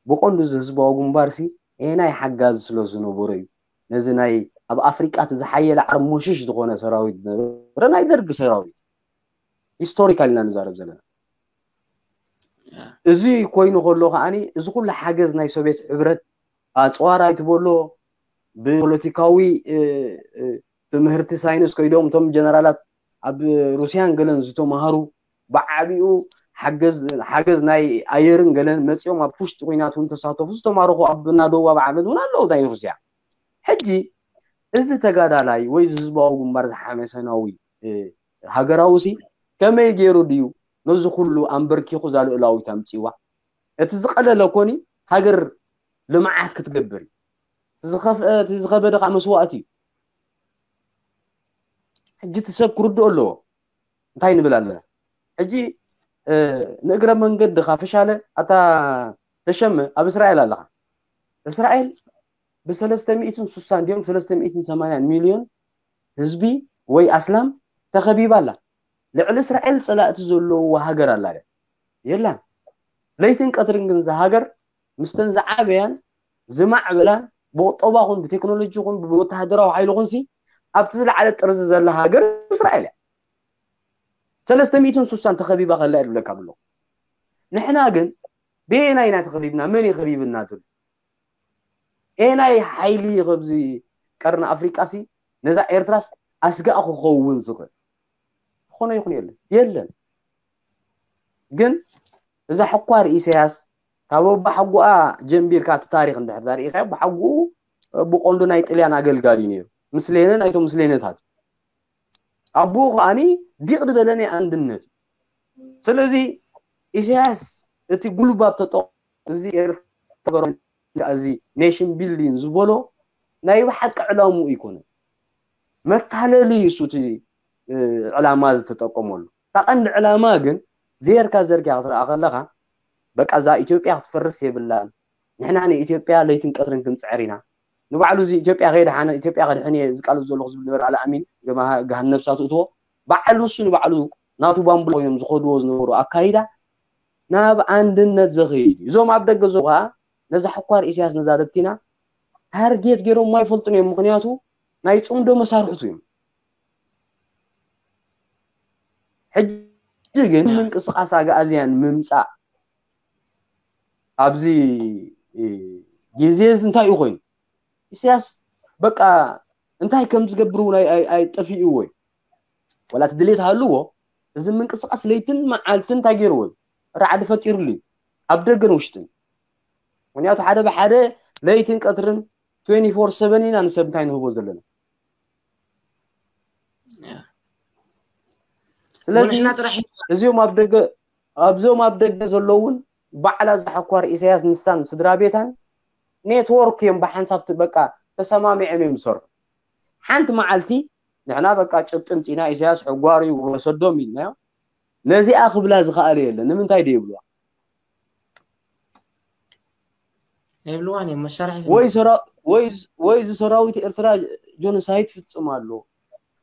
ብቐንዱ እዚ ህዝባዊ ግንባርሲ ኤናይ ሓጋዚ ስለ ዝነበሮ እዩ። ነዚ ናይ ኣብ ኣፍሪቃ እቲ ዝሓየለ ዓርሞሽሽ ዝኾነ ሰራዊት ዝነበረ ናይ ደርጊ ሰራዊት ሂስቶሪካል ኢና ንዛረብ ዘለና። እዚ ኮይኑ ከሎ ከዓኒ እዚ ኩሉ ሓገዝ ናይ ሶቪየት ሕብረት ኣፅዋር ኣይትበሎ ብፖለቲካዊ ትምህርቲ ሳይንስ ከይዶም እቶም ጀነራላት ኣብ ሩስያን ገለን ዝተማሃሩ ብዓቢኡ ሓገዝ ናይ ኣየርን ገለን መፂኦም ኣብ ውሽጢ ኩናት እውን ተሳተፉ ዝተማረኹ ኣብ ናደው ኣብ ዓመት እውን ኣለዉ ናይ ሩስያ። ሕጂ እዚ ተጋዳላይ ወይ ህዝባዊ ግንባር ዝሓመሰናዊ ሃገራዊ ሲ ከመይ ገይሩ ድዩ ነዚ ኩሉ ኣንበርኪኹ እዛ ልእላዊት ኣምፅዋ? እቲ ዝቀለለ ኮኒ ሃገር ልምዓት ክትገብር እዩ። እቲ ዝኸበደ ከዓ መስዋእቲ እዩ። ሕጂ እቲ ሰብ ክርድኦ ኣለዎ። እንታይ ንብል ኣለና? ሕጂ ንእግረ መንገድኻ ፍሻለ ኣታ ተሸመ ኣብ እስራኤል ኣለኻ። እስራኤል ብሰለስተ ሚእትን ስሳን ድዮም ሰለስተ ሚእትን ሰማንያን ሚልዮን ህዝቢ ወይ ኣስላም ተኸቢባ ኣላ። ልዕሊ እስራኤል ፀላእቲ ዘለውዋ ሃገር ኣላ ድያ? የላን። ለይትን ቀትርን ግን እዛ ሃገር ምስተን ዝዓበያን ዝማዕበላን ብቁጠባ ኹን ብቴክኖሎጂ ኹን ብወተሃደራዊ ሓይሊ ኹንሲ ኣብቲ ዝለዓለ ጥርዚ ዘላ ሃገር እስራኤል እያ። ሰለስተ ሚእትን ስሳን ተኸቢባ ከላ እየ ዝብለካ ብሎ። ንሕና ግን ብየናይ ኢና ተኸቢብና? መን እዩ ከቢብና ትብል? ኤናይ ሓይሊ ከብዚ ቀርኒ ኣፍሪቃ ሲ ነዛ ኤርትራስ ኣስጋእ ክኸውን ዝኽእል ዝኾነ ይኹን የለን የለን። ግን እዛ ሕኳር ኢሳያስ ካብ ኣቦሓጎኣ ጀንቢርካ እቲ ታሪክ እንድሕር ሪኢኻዮ ኣቦሓጎኡ ብቆንዶ ናይ ጥልያን ኣገልጋሊ ነይሩ። ምስሌነ ናይቶም ምስሌነታት ኣቦኡ ከዓኒ ዲቕ ዝበለ ናይ ኣንድነት እዩ። ስለዚ ኢሳያስ እቲ ጉልባብ ተጠ እዚ ኤርትራ እዚ ኔሽን ቢልዲንግ ዝበሎ ናይ ብሓቂ ዕላምኡ ኣይኮነን። መታለሊ እዩ እሱ እቲ ዕላማ ዝተጠቀመሉ። እታ ቀንዲ ዕላማ ግን ዘየርካ ዘርኪያ ክትረኣ ከለኻ በቃ እዛ ኢትዮጵያ ክትፈርስ የብላን። ንሕና ንኢትዮጵያ ለይትን ቀትርን ክንፅዕር ኢና። ንባዕሉ እዚ ኢትዮጵያ ከየድሓነ ኢትዮጵያ ከድሕን እየ ዝቃለስ ዘለኹ ዝብል ነበረ ኣልኣሚን ገሃነብ እሳቱ እትዎ ባዕሉ ንሱ ንባዕሉ ናቱ ባምቡላ ኮይኖም ዝኸድዎ ዝነበሩ ኣካይዳ ናብ ኣንድነት ዘኽይድ እዩ። እዞም ኣብ ደገ ዘለዉ ከዓ ነዛ ሕኳር ኢሳያስ ነዛ ደብቲና ታርጌት ገይሮም ኣይፈልጡን እዮም። ምክንያቱ ናይ ፅምዶ መሳርሕቱ እዮም። ሕጂ ግን ምንቅስቃስ ኣግኣዝያን ምምፃእ ኣብዚ ግዜ እዚ እንታይ እዩ ኮይኑ? ኢሳያስ በቃ እንታይ ከም ዝገብር እውን ኣይጠፊእዎ እዩ። ዋላ እቲ ድሌት ሃልዎ እዚ ምንቅስቃስ ለይትን መዓልትን እንታይ ገይርዎ እዩ? ራዕዲ ፈጢሩሉ እዩ ኣብ ደገን ውሽጥን። ምክንያቱ ሓደ ብሓደ ለይትን ቀትርን ትዌንቲ ፎር ሰቨን ኢና ንሰብ እንታይ ንህቦ ዘለና። ስለዚ እዚኦም ኣብ ደገ ኣብዞም ኣብ ደገ ዘለውን ባዕላ ዝሓኳር ኢሳያስ ንሳን ስድራ ቤታን ኔትወርክ እዮም ብሓንሳብ በቃ ተሰማሚዖም እዮም ዝሰርሑ። ሓንቲ መዓልቲ ንሕና በቃ ጭብጢ ምፂና ኢሳያስ ሕጓር እዩ ወሰዶም ኢልናዮ። ነዚኣ ክብላ ዝኸኣለ የለን። ንምንታይ ዶ ይብልዋ? የብልዋን እዮም መሳርሒ ወይ ሰራ ወይ ወይ እዚ ሰራዊት ኤርትራ ጆኖሳይድ ፍጽም ኣሎ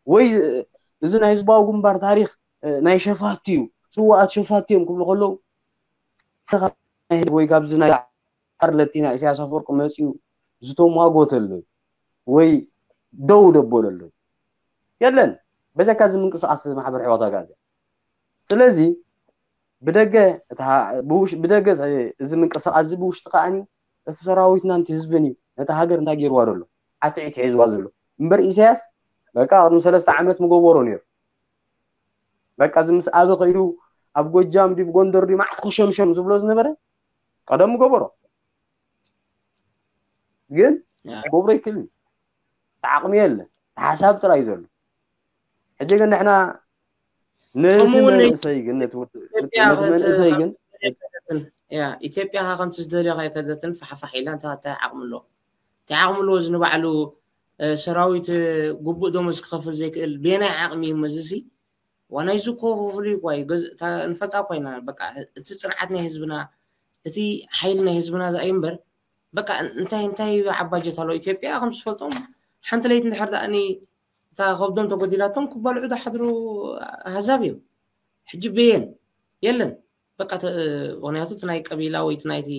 ወይ እዚ ናይ ህዝባዊ ግንባር ታሪክ ናይ ሸፋቱ እዩ ስዋኣት ሸፋቱ እዮም ክብሉ ከለዉ ወይ ካብዚ ናይ ዓርለቲ ናይ ኢሳያስ ኣፈወርቂ መፅኡ ዝተሟጎተሉ ወይ ደው ደበለሉ የለን። በጃካ እዚ ምንቅስቃስ ማሕበር ሕዋት ኣጋልግል ስለዚ ብደገ ብደገ እዚ ምንቅስቃስ እዚ ብውሽጢ ከዓኒ እቲ ሰራዊትና ንቲ ህዝብን እዩ ነቲ ሃገር እንታይ ገይርዋ ዘሎ ዓትዒት ሒዝዋ ዘሎ እምበር ኢሳያስ በቃ ቅድሚ ሰለስተ ዓመት ምገበሮ ነይሩ በቃ እዚ ምስ ኣበ ከይዱ ኣብ ጎጃም ድዩ ጎንደር ድዩ ማዕት ኮሸምሸም ዝብሎ ዝነበረ ቀደም ምገበሮ ግን ክገብሮ ይክእል ዓቕሚ የለ ሓሳብ ጥራይ ዘሎ ሕጂ ግን ንሕና ነቲ መንእሰይ ግን ነቲ መንእሰይ ግን ኢትዮጵያ ከምቲ ዝደልዮ ከይከደትን ፋሕፋሕ ኢላ እንታይ ዓቕሚ ኣለዎ እንታይ ዓቕሚ ኣለዎ እዚ ንባዕሉ ሰራዊት ግቡእ ደሞዝ ክኸፍል ዘይክእል ቤናይ ዓቕሚ እዩ መዝሲ ዋናይ ዝኮ ክፍሉ ይኳይ ንፈልጣ ኮይና በቃ እቲ ፅንዓት ናይ ህዝብና እቲ ሓይሊ ናይ ህዝብና ዝኣይ እምበር በቃ እንታይ እንታይ ዓባጀት ኣሎ ኢትዮጵያ ከም ዝፈልጦም ሓንቲ ለይቲ እንድሕር ዳኣኒ እታ ከብዶም ተጎዲላቶም ክባልዑ ዝሓድሩ ኣህዛብ እዮም ሕጂ በየን የለን በቃ ምክንያቱ እቲ ናይ ቀቢላ ወይ እቲ ናይቲ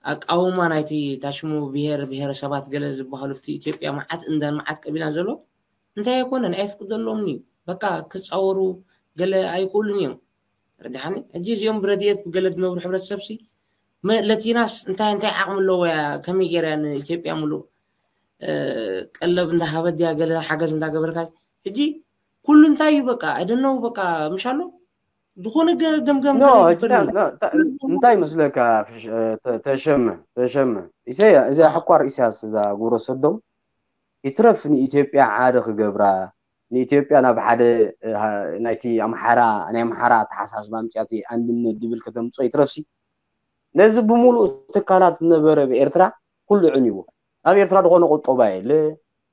ኣቃውማ ናይቲ ታሽሙ ብሄር ብሄረሰባት ገለ ዝበሃሉ እቲ ኢትዮጵያ መዓት እንዳን መዓት ቀቢላን ዘሎ እንታይ ኣይኮነን ኣይፍቅደሎምን እዩ በቃ ክፃወሩ ገለ ኣይክእሉን እዮም ረዲሓኒ። ሕጂ እዚኦም ብረድኤት ብገለ ዝነብሩ ሕብረተሰብ ሲ መ- ለቲናስ እንታይ እንታይ ዓቕሚ ኣለዎ እያ? ከመይ ገይራ ንኢትዮጵያ ሙሉእ እ፣ ቀለብ እንዳሃበት ድያ ገለ ሓገዝ እንዳገበርካ? ሕጂ ኩሉ እንታይ እዩ በቃ፣ I don't know፣ በቃ ምሽ ኣሎ ዝኾነ ገ- ገምገም ኖ ገለ ሕጂ ይግበር ታ- እዩ። ታ- ታ- እንታይ መስለካ ፍሽ- እ፣ ተ- ተሸመ ተሸመ ኢሰያ እዚኣ እ። ሕኳር ኢሳያስ እዛ ግብረ ሰዶም ይትረፍ ንኢትዮጵያ ሓደ ክገብራ ንኢትዮጵያ ናብ ሓደ እ፣ ሃ- ናይቲ ኣምሓራ ናይ ኣምሓራ ኣተሓሳስባ ኣምፅያቲ ኣንድነት ድብል ከተምፅኦ ይትረፍሲ ነዚ ብምሉእ ትካላት ዝነበረ ብኤርትራ ኩሉ ዕንይዎ ኣብ ኤርትራ ዝኾነ ቁጠባ የለ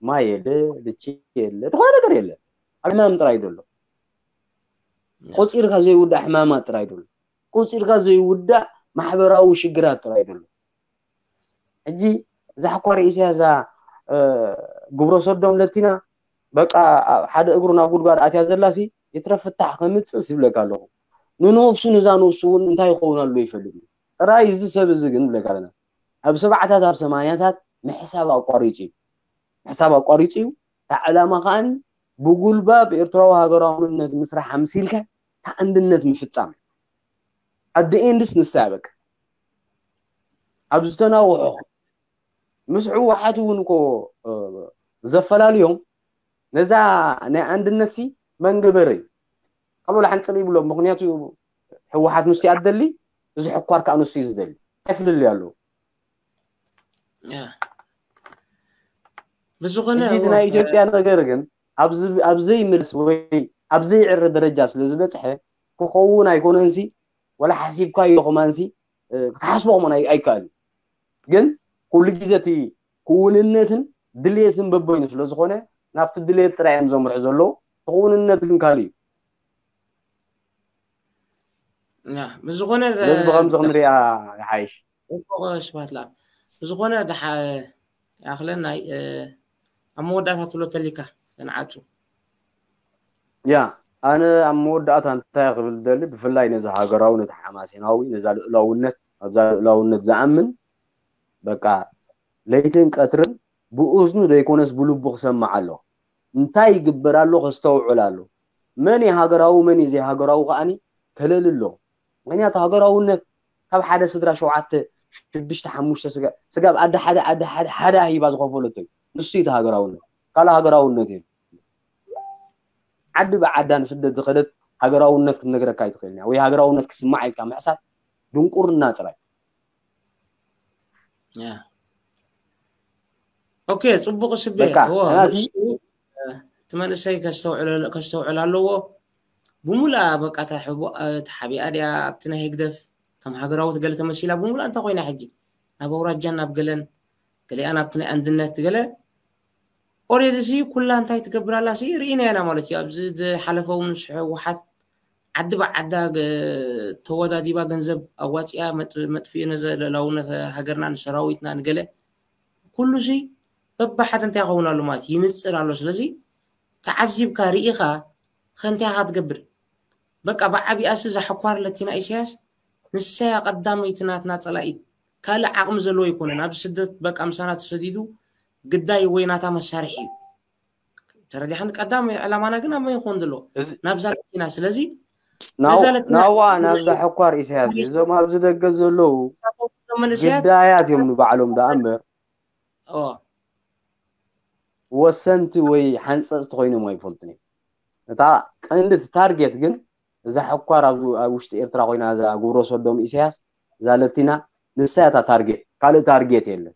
ማይ የለ ልቺ የለ ዝኾነ ነገር የለ ኣብ ሕማም ጥራይ ዘሎ ቆፂርካ ዘይውዳእ ሕማማት ጥራይ ዘሎ ቆፂርካ ዘይውዳእ ማሕበራዊ ሽግራት ጥራይ ዘሎ ሕጂ እዛ ሕኳር ኢሳያ እዛ ግብረ ሰዶም ለቲና በቃ ሓደ እግሩ ናብ ጉድጓድ ኣትያ ዘላሲ ይትረፍ ፍታሕ ከምፅእ ይብለካ ኣለኹ ንነብሱ ንዛ ነብሱ እውን እንታይ ይኸውን ኣሎ ይፈልጥ እዩ ጥራይ እዚ ሰብ እዚ ግን ይብለካ ኣለና ኣብ ሰብዓታት ኣብ ሰማንያታት ምሕሳብ ኣቋሪፁ እዩ ምሕሳብ ኣቋሪፁ እዩ እታ ዕላማ ከዓኒ ብጉልባብ ኤርትራዊ ሃገራውነት ምስራሕ ኣምሲልካ እታ ኣንድነት ምፍፃም ኣደ ኤንድስ ንሳ በቃ ኣብ ዝተናውሖ ምስ ህወሓት እውን እኮ ዘፈላልዮም ነዛ ናይ ኣንድነት ሲ መንገበረ እዩ ካልኦ ሓንፅር ይብሎ ምክንያቱ ህወሓት ንሱ ኣደሊ እዚ ሕኳር ከዓ ንሱ እዩ ዝደሊ ኣይፍልልዩ ኣለዉ ብዝኾነ እዚ ናይ ኢትዮጵያ ነገር ግን ኣብ ዘይምልስ ወይ ኣብ ዘይዕረ ደረጃ ስለ ዝበፅሐ ክኸውን ኣይኮነንሲ ወላ ሓሲብካዮ ከማንሲ ክትሓስቦ ከማን ኣይከኣል ግን ኩሉ ግዜ እቲ ክውንነትን ድሌትን በበይኑ ስለ ዝኾነ ናብቲ ድሌት ጥራይ እዮም ዘምርሑ ዘለዉ እቲ ክውንነት ግን ካልእ እዩ ብዝኾነ ስለዚ ብከምዚ ክንሪኣ ይሓይሽ ስብሓት ለኣብ ብዝኾነ ይኣኽለና ኣብ መወዳእታ ትብሎ ተሊካ ተንዓፁ ያ ኣነ ኣብ መወዳእታ እንታይ ክብል ደሊ ብፍላይ ነዚ ሃገራዊ ነቲ ሓማሴናዊ ነዛ ልእላውነት ኣብዛ ልእላውነት ዝኣምን በቃ ለይትን ቀትርን ብእዝኑ ዘይኮነስ ብልቡ ክሰምዕ ኣሎ እንታይ ይግበር ኣሎ ከስተውዕል ኣሎ መን ሃገራዊ መን ዘይሃገራዊ ከዓኒ ከለል ኣሎ ምክንያቱ ሃገራውነት ካብ ሓደ ስድራ ሸውዓተ ሽዱሽተ ሓሙሽተ ስጋ ስጋብ ኣደ ሓደ ኣደ ሓደ ሓደ ሂባ ዝኸፈለቶ እዩ ንሱ እዩ ሃገራውነት ካልእ ሃገራውነት እዩ ዓዲ ብዓዳ ንስደት ዝኸደት ሃገራውነት ክትነግረካ ኣይትኽእልን ወይ ሃገራውነት ክስማዕ ኢልካ ምሕሳብ ድንቁርና ጥራይ ኦኬ ፅቡቅ ስቤ እቲ መንእሰይ ከስተውዕል ኣለዎ ብሙሉኣ በቃ ተሓቢኣ ድያ ኣብቲ ናይ ህግደፍ ከም ሃገራዊት ገለ ተመሲላ ብሙሉኣ እንታይ ኮይና ሕጂ ናብ ኣውራጃን ናብ ገለን ገሊኣ ናብቲ ናይ ኣንድነት ገለ ኦሬዲ ሲ ኩላ እንታይ ትገብር ኣላ ሲ ርኢና ኢና ማለት እዩ ኣብዚ ዝሓለፈ እውን ምስ ህወሓት ዓዲ ብዓዳ ተወዳዲባ ገንዘብ ኣዋፂኣ መጥፍኢ ነዘ ልእላውነት ሃገርና ንሰራዊትና ንገለ ኩሉ ሲ በብሓደ እንታይ ይኸውን ኣሎ ማለት ይንፅር ኣሎ ስለዚ ተዓዚብካ ርኢኻ ከንቲኻ ትገብር በቃ ብዓቢኣሲ እዛ ሕኳር ለቲና ኢሳያስ ንሳያ ቀዳመይቲ ናትና ፀላኢት ካልእ ዓቕሚ ዘለዎ ኣይኮነን ኣብ ስደት በቃ ምሳና ተሰዲዱ ግዳይ ወይ ናታ መሳርሒ እዩ ተረዲሓን ቀዳም ዕላማና ግን ኣብ መን ይኾን ዘሎ ናብዛ ለቲና ስለዚ ናዋ ናብዛ ሕኳር ኢሳያስ እዞም ኣብዚ ደገ ዘለዉ ግዳያት እዮም ንባዕሎም ደኣ እምበር ወሰንቲ ወይ ሓንፀፅቲ ኮይኖም ኣይፈልጡን እዮም እታ ቀንዲ እቲ ታርጌት ግን እዛ ሕኳር ኣብ ውሽጢ ኤርትራ ኮይና እዛ ግብረ ሰዶም ኢሳያስ እዛ ለቲና ንሳ እታ ታርጌት ካልእ ታርጌት የለን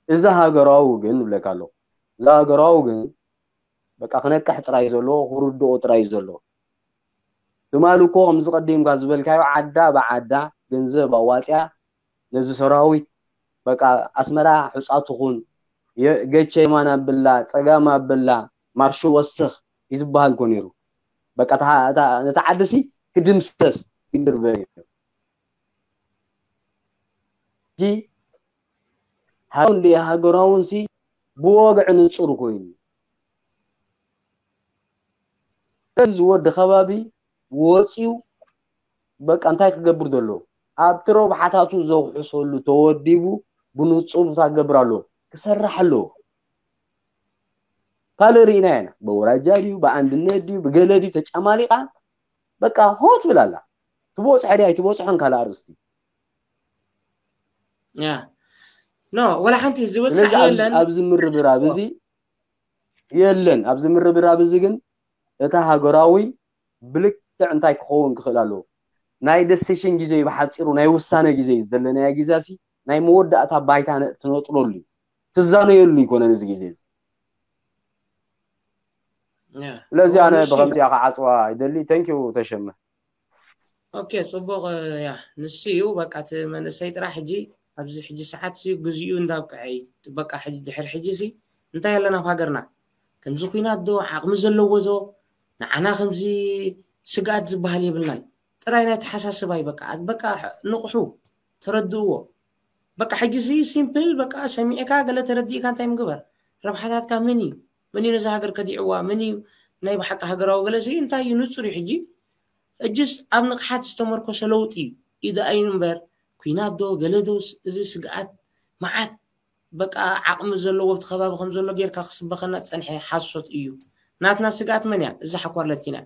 እዛ ሃገራዊ ግን ይብለካ ኣለኹ እዛ ሃገራዊ ግን በቃ ክነቅሕ ጥራይ ዘለዎ ክርድኦ ጥራይ ዘለዎ ትማሊ እኮ ከምዚ ቀዲምካ ዝበልካዮ ዓዳ ብዓዳ ገንዘብ ኣዋፅያ ነዚ ሰራዊት በቃ ኣስመራ ሕፃ ትኹን ገቸ የማን ኣብላ ፀጋም ኣብላ ማርሽ ወስኽ ይዝበሃል እኮ ነይሩ በቃ ነቲ ዓዲ ሲ ክድምሰስ ይግርበ እዩ እንዲ ሃገራውን ሲ ብወግዒ ንፁር ኮይኑ እዚ ወዲ ከባቢ ወፂኡ በቃ እንታይ ክገብር ዘሎ ኣብቲ ረብሓታቱ ዘውሕሰሉ ተወዲቡ ብንፁር ክገብር ኣለዎ ክሰርሕ ኣለዎ ካልእ ርኢና ኢና ብወራጃ ድዩ ብኣንድነት ድዩ ብገለ ድዩ ተጫማሊቃ በቃ ሆ ትብል ኣላ ትበፅሖ ድያ ኣይትበፅሖን ካልእ ኣርእስቲ። ያ ኖ ወላ ሓንቲ ዝበፅሕ ስለዚ ኣብዚ- የለን። ኣብዚ ምርብራብ እዚ የለን። ኣብዚ ምርብራብ እዚ ግን እታ ሃገራዊ ብልክዕ እንታይ ክኸውን ክኽእል ኣለዎ? ናይ ደሲሽን ግዜ እዩ፣ ብሓፂሩ ናይ ውሳነ ግዜ እዩ ዘለናዮ። ግዛሲ ናይ መወዳእታ ባይታ ነ- ትነጥረሉ እዩ፣ ትዛነየሉ ይኮነን እዚ ግዜ እዚ። ያ ስለዚ ኣነ ንሱ እዩ። ብከምዚኣ ክዓፅዋ ይደሊ። ተንኪዩ ተሸመ። ኦኬ፣ ፅቡቕ። ያ ንሱ እዩ። በቃ እቲ መንእሰይ ጥራሕ ሕጂ ኣብዚ ሕጂ ሰዓት ሲ ግዚኡ እንዳብቅዐ እዩ። በቃ ሕጂ ድሕሪ ሕጂ ሲ እንታይ ኣለና ኣብ ሃገርና? ከምዚ ኩናት ዶ ዓቕሚ ዘለዎ ዶ ንዓና ከምዚ ስግኣት ዝበሃል የብልናን። ጥራይ ናይ ተሓሳስባይ በቃ ኣት- በቃ ንቕሑ፣ ተረድእዎ። በቃ ሕጂ ሲ ሲምፕል በቃ ሰሚዕካ ገለ ተረዲእካ እንታይ ምግበር? ረብሓታትካ ምን እዩ? ምን እዩ ነዚ ሃገር ከዲዕዋ? ምን እዩ ናይ ብሓቂ ሃገራዊ ገለ ሲ እንታይ እዩ ንፁር እዩ። ሕጂ እጅስ ኣብ ንቕሓት ዝተመርኮሰ ለውጢ እዩ። ኢደ ኣይኑ እምበር ኩናት ዶ ገለ ዶስ እዚ ስግኣት መዓት በቃ ዓቕሚ ዘለዎ ኣብቲ ከባቢ ከም ዘሎ ጌርካ ክስበኸና ዝፀንሐ ሓሶት እዩ። ናትና ስግኣት መን እያ? እዛ ሓኳር ለቲና።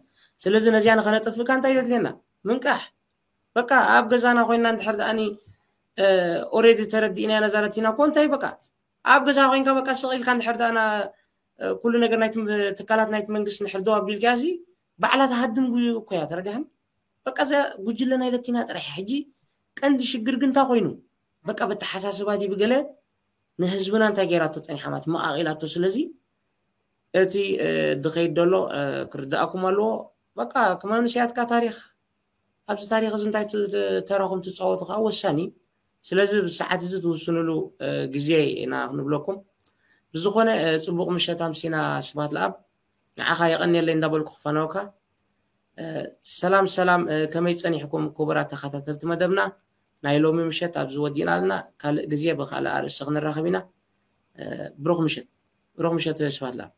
ስለዚ ነዚያ ንኸነጥፍእካ እንታይ ዘድልየና? ምንቃሕ። በቃ ኣብ ገዛና ኮይና እንድሕር ደኣኒ ኦሬዲ ተረዲእና ነዛ ለቲና እኮ እንታይ በቃ ኣብ ገዛ ኮይንካ በቃ ስቕ ኢልካ እንድሕር ደኣና ኩሉ ነገር ናይ ትካላት ናይቲ መንግስቲ እንድሕር ደው ኣቢልካ ሲ ባዕላ ትሃድም ጉ- እኮ እያ። ተረዲሓን? በቃ እዛ ጉጅለ ናይ ለቲና ጥራሕ እያ። ሕጂ ቀንዲ ሽግር ግን እንታይ ኮይኑ በቃ በተሓሳስባ ድዩ ብገለ ንህዝብና እንታይ ገይራቶ ፀኒሓ ማለት መቓቒላቶ። ስለዚ እቲ እ፣ ድኸይድ ደሎ እ፣ ክርድኣኩም ኣለዎ። በቃ ከመንስያትካ ታሪክ ኣብዚ ታሪክ እዚ እንታይ ት- ት- ተራኹም ትፃወቱ ከዓ ወሳኒ። ስለዚ ብሰዓት እዚ ትውስንሉ እ፣ ግዜ ኢና ክንብለኩም። ብዝኾነ እ፣ ፅቡቕ ምሸት ኣምሲና ስብሃት ለኣብ ንዓኻ የቐንየለይ እንዳበልኩ ክፈነወካ። እ፣ ሰላም ሰላም እ፣ ከመይ ፀኒሕኩም ክቡራት ተኸታተልቲ መደብና? ናይ ሎሚ ምሸት ኣብዚ ወዲእና ኣለና። ካልእ ግዜ ብካልእ ኣርእስቲ ክንራኸብ ኢና። እ፣ ብሩኽ ምሸት። ብሩኽ ምሸት ስብሃት ለኣብ።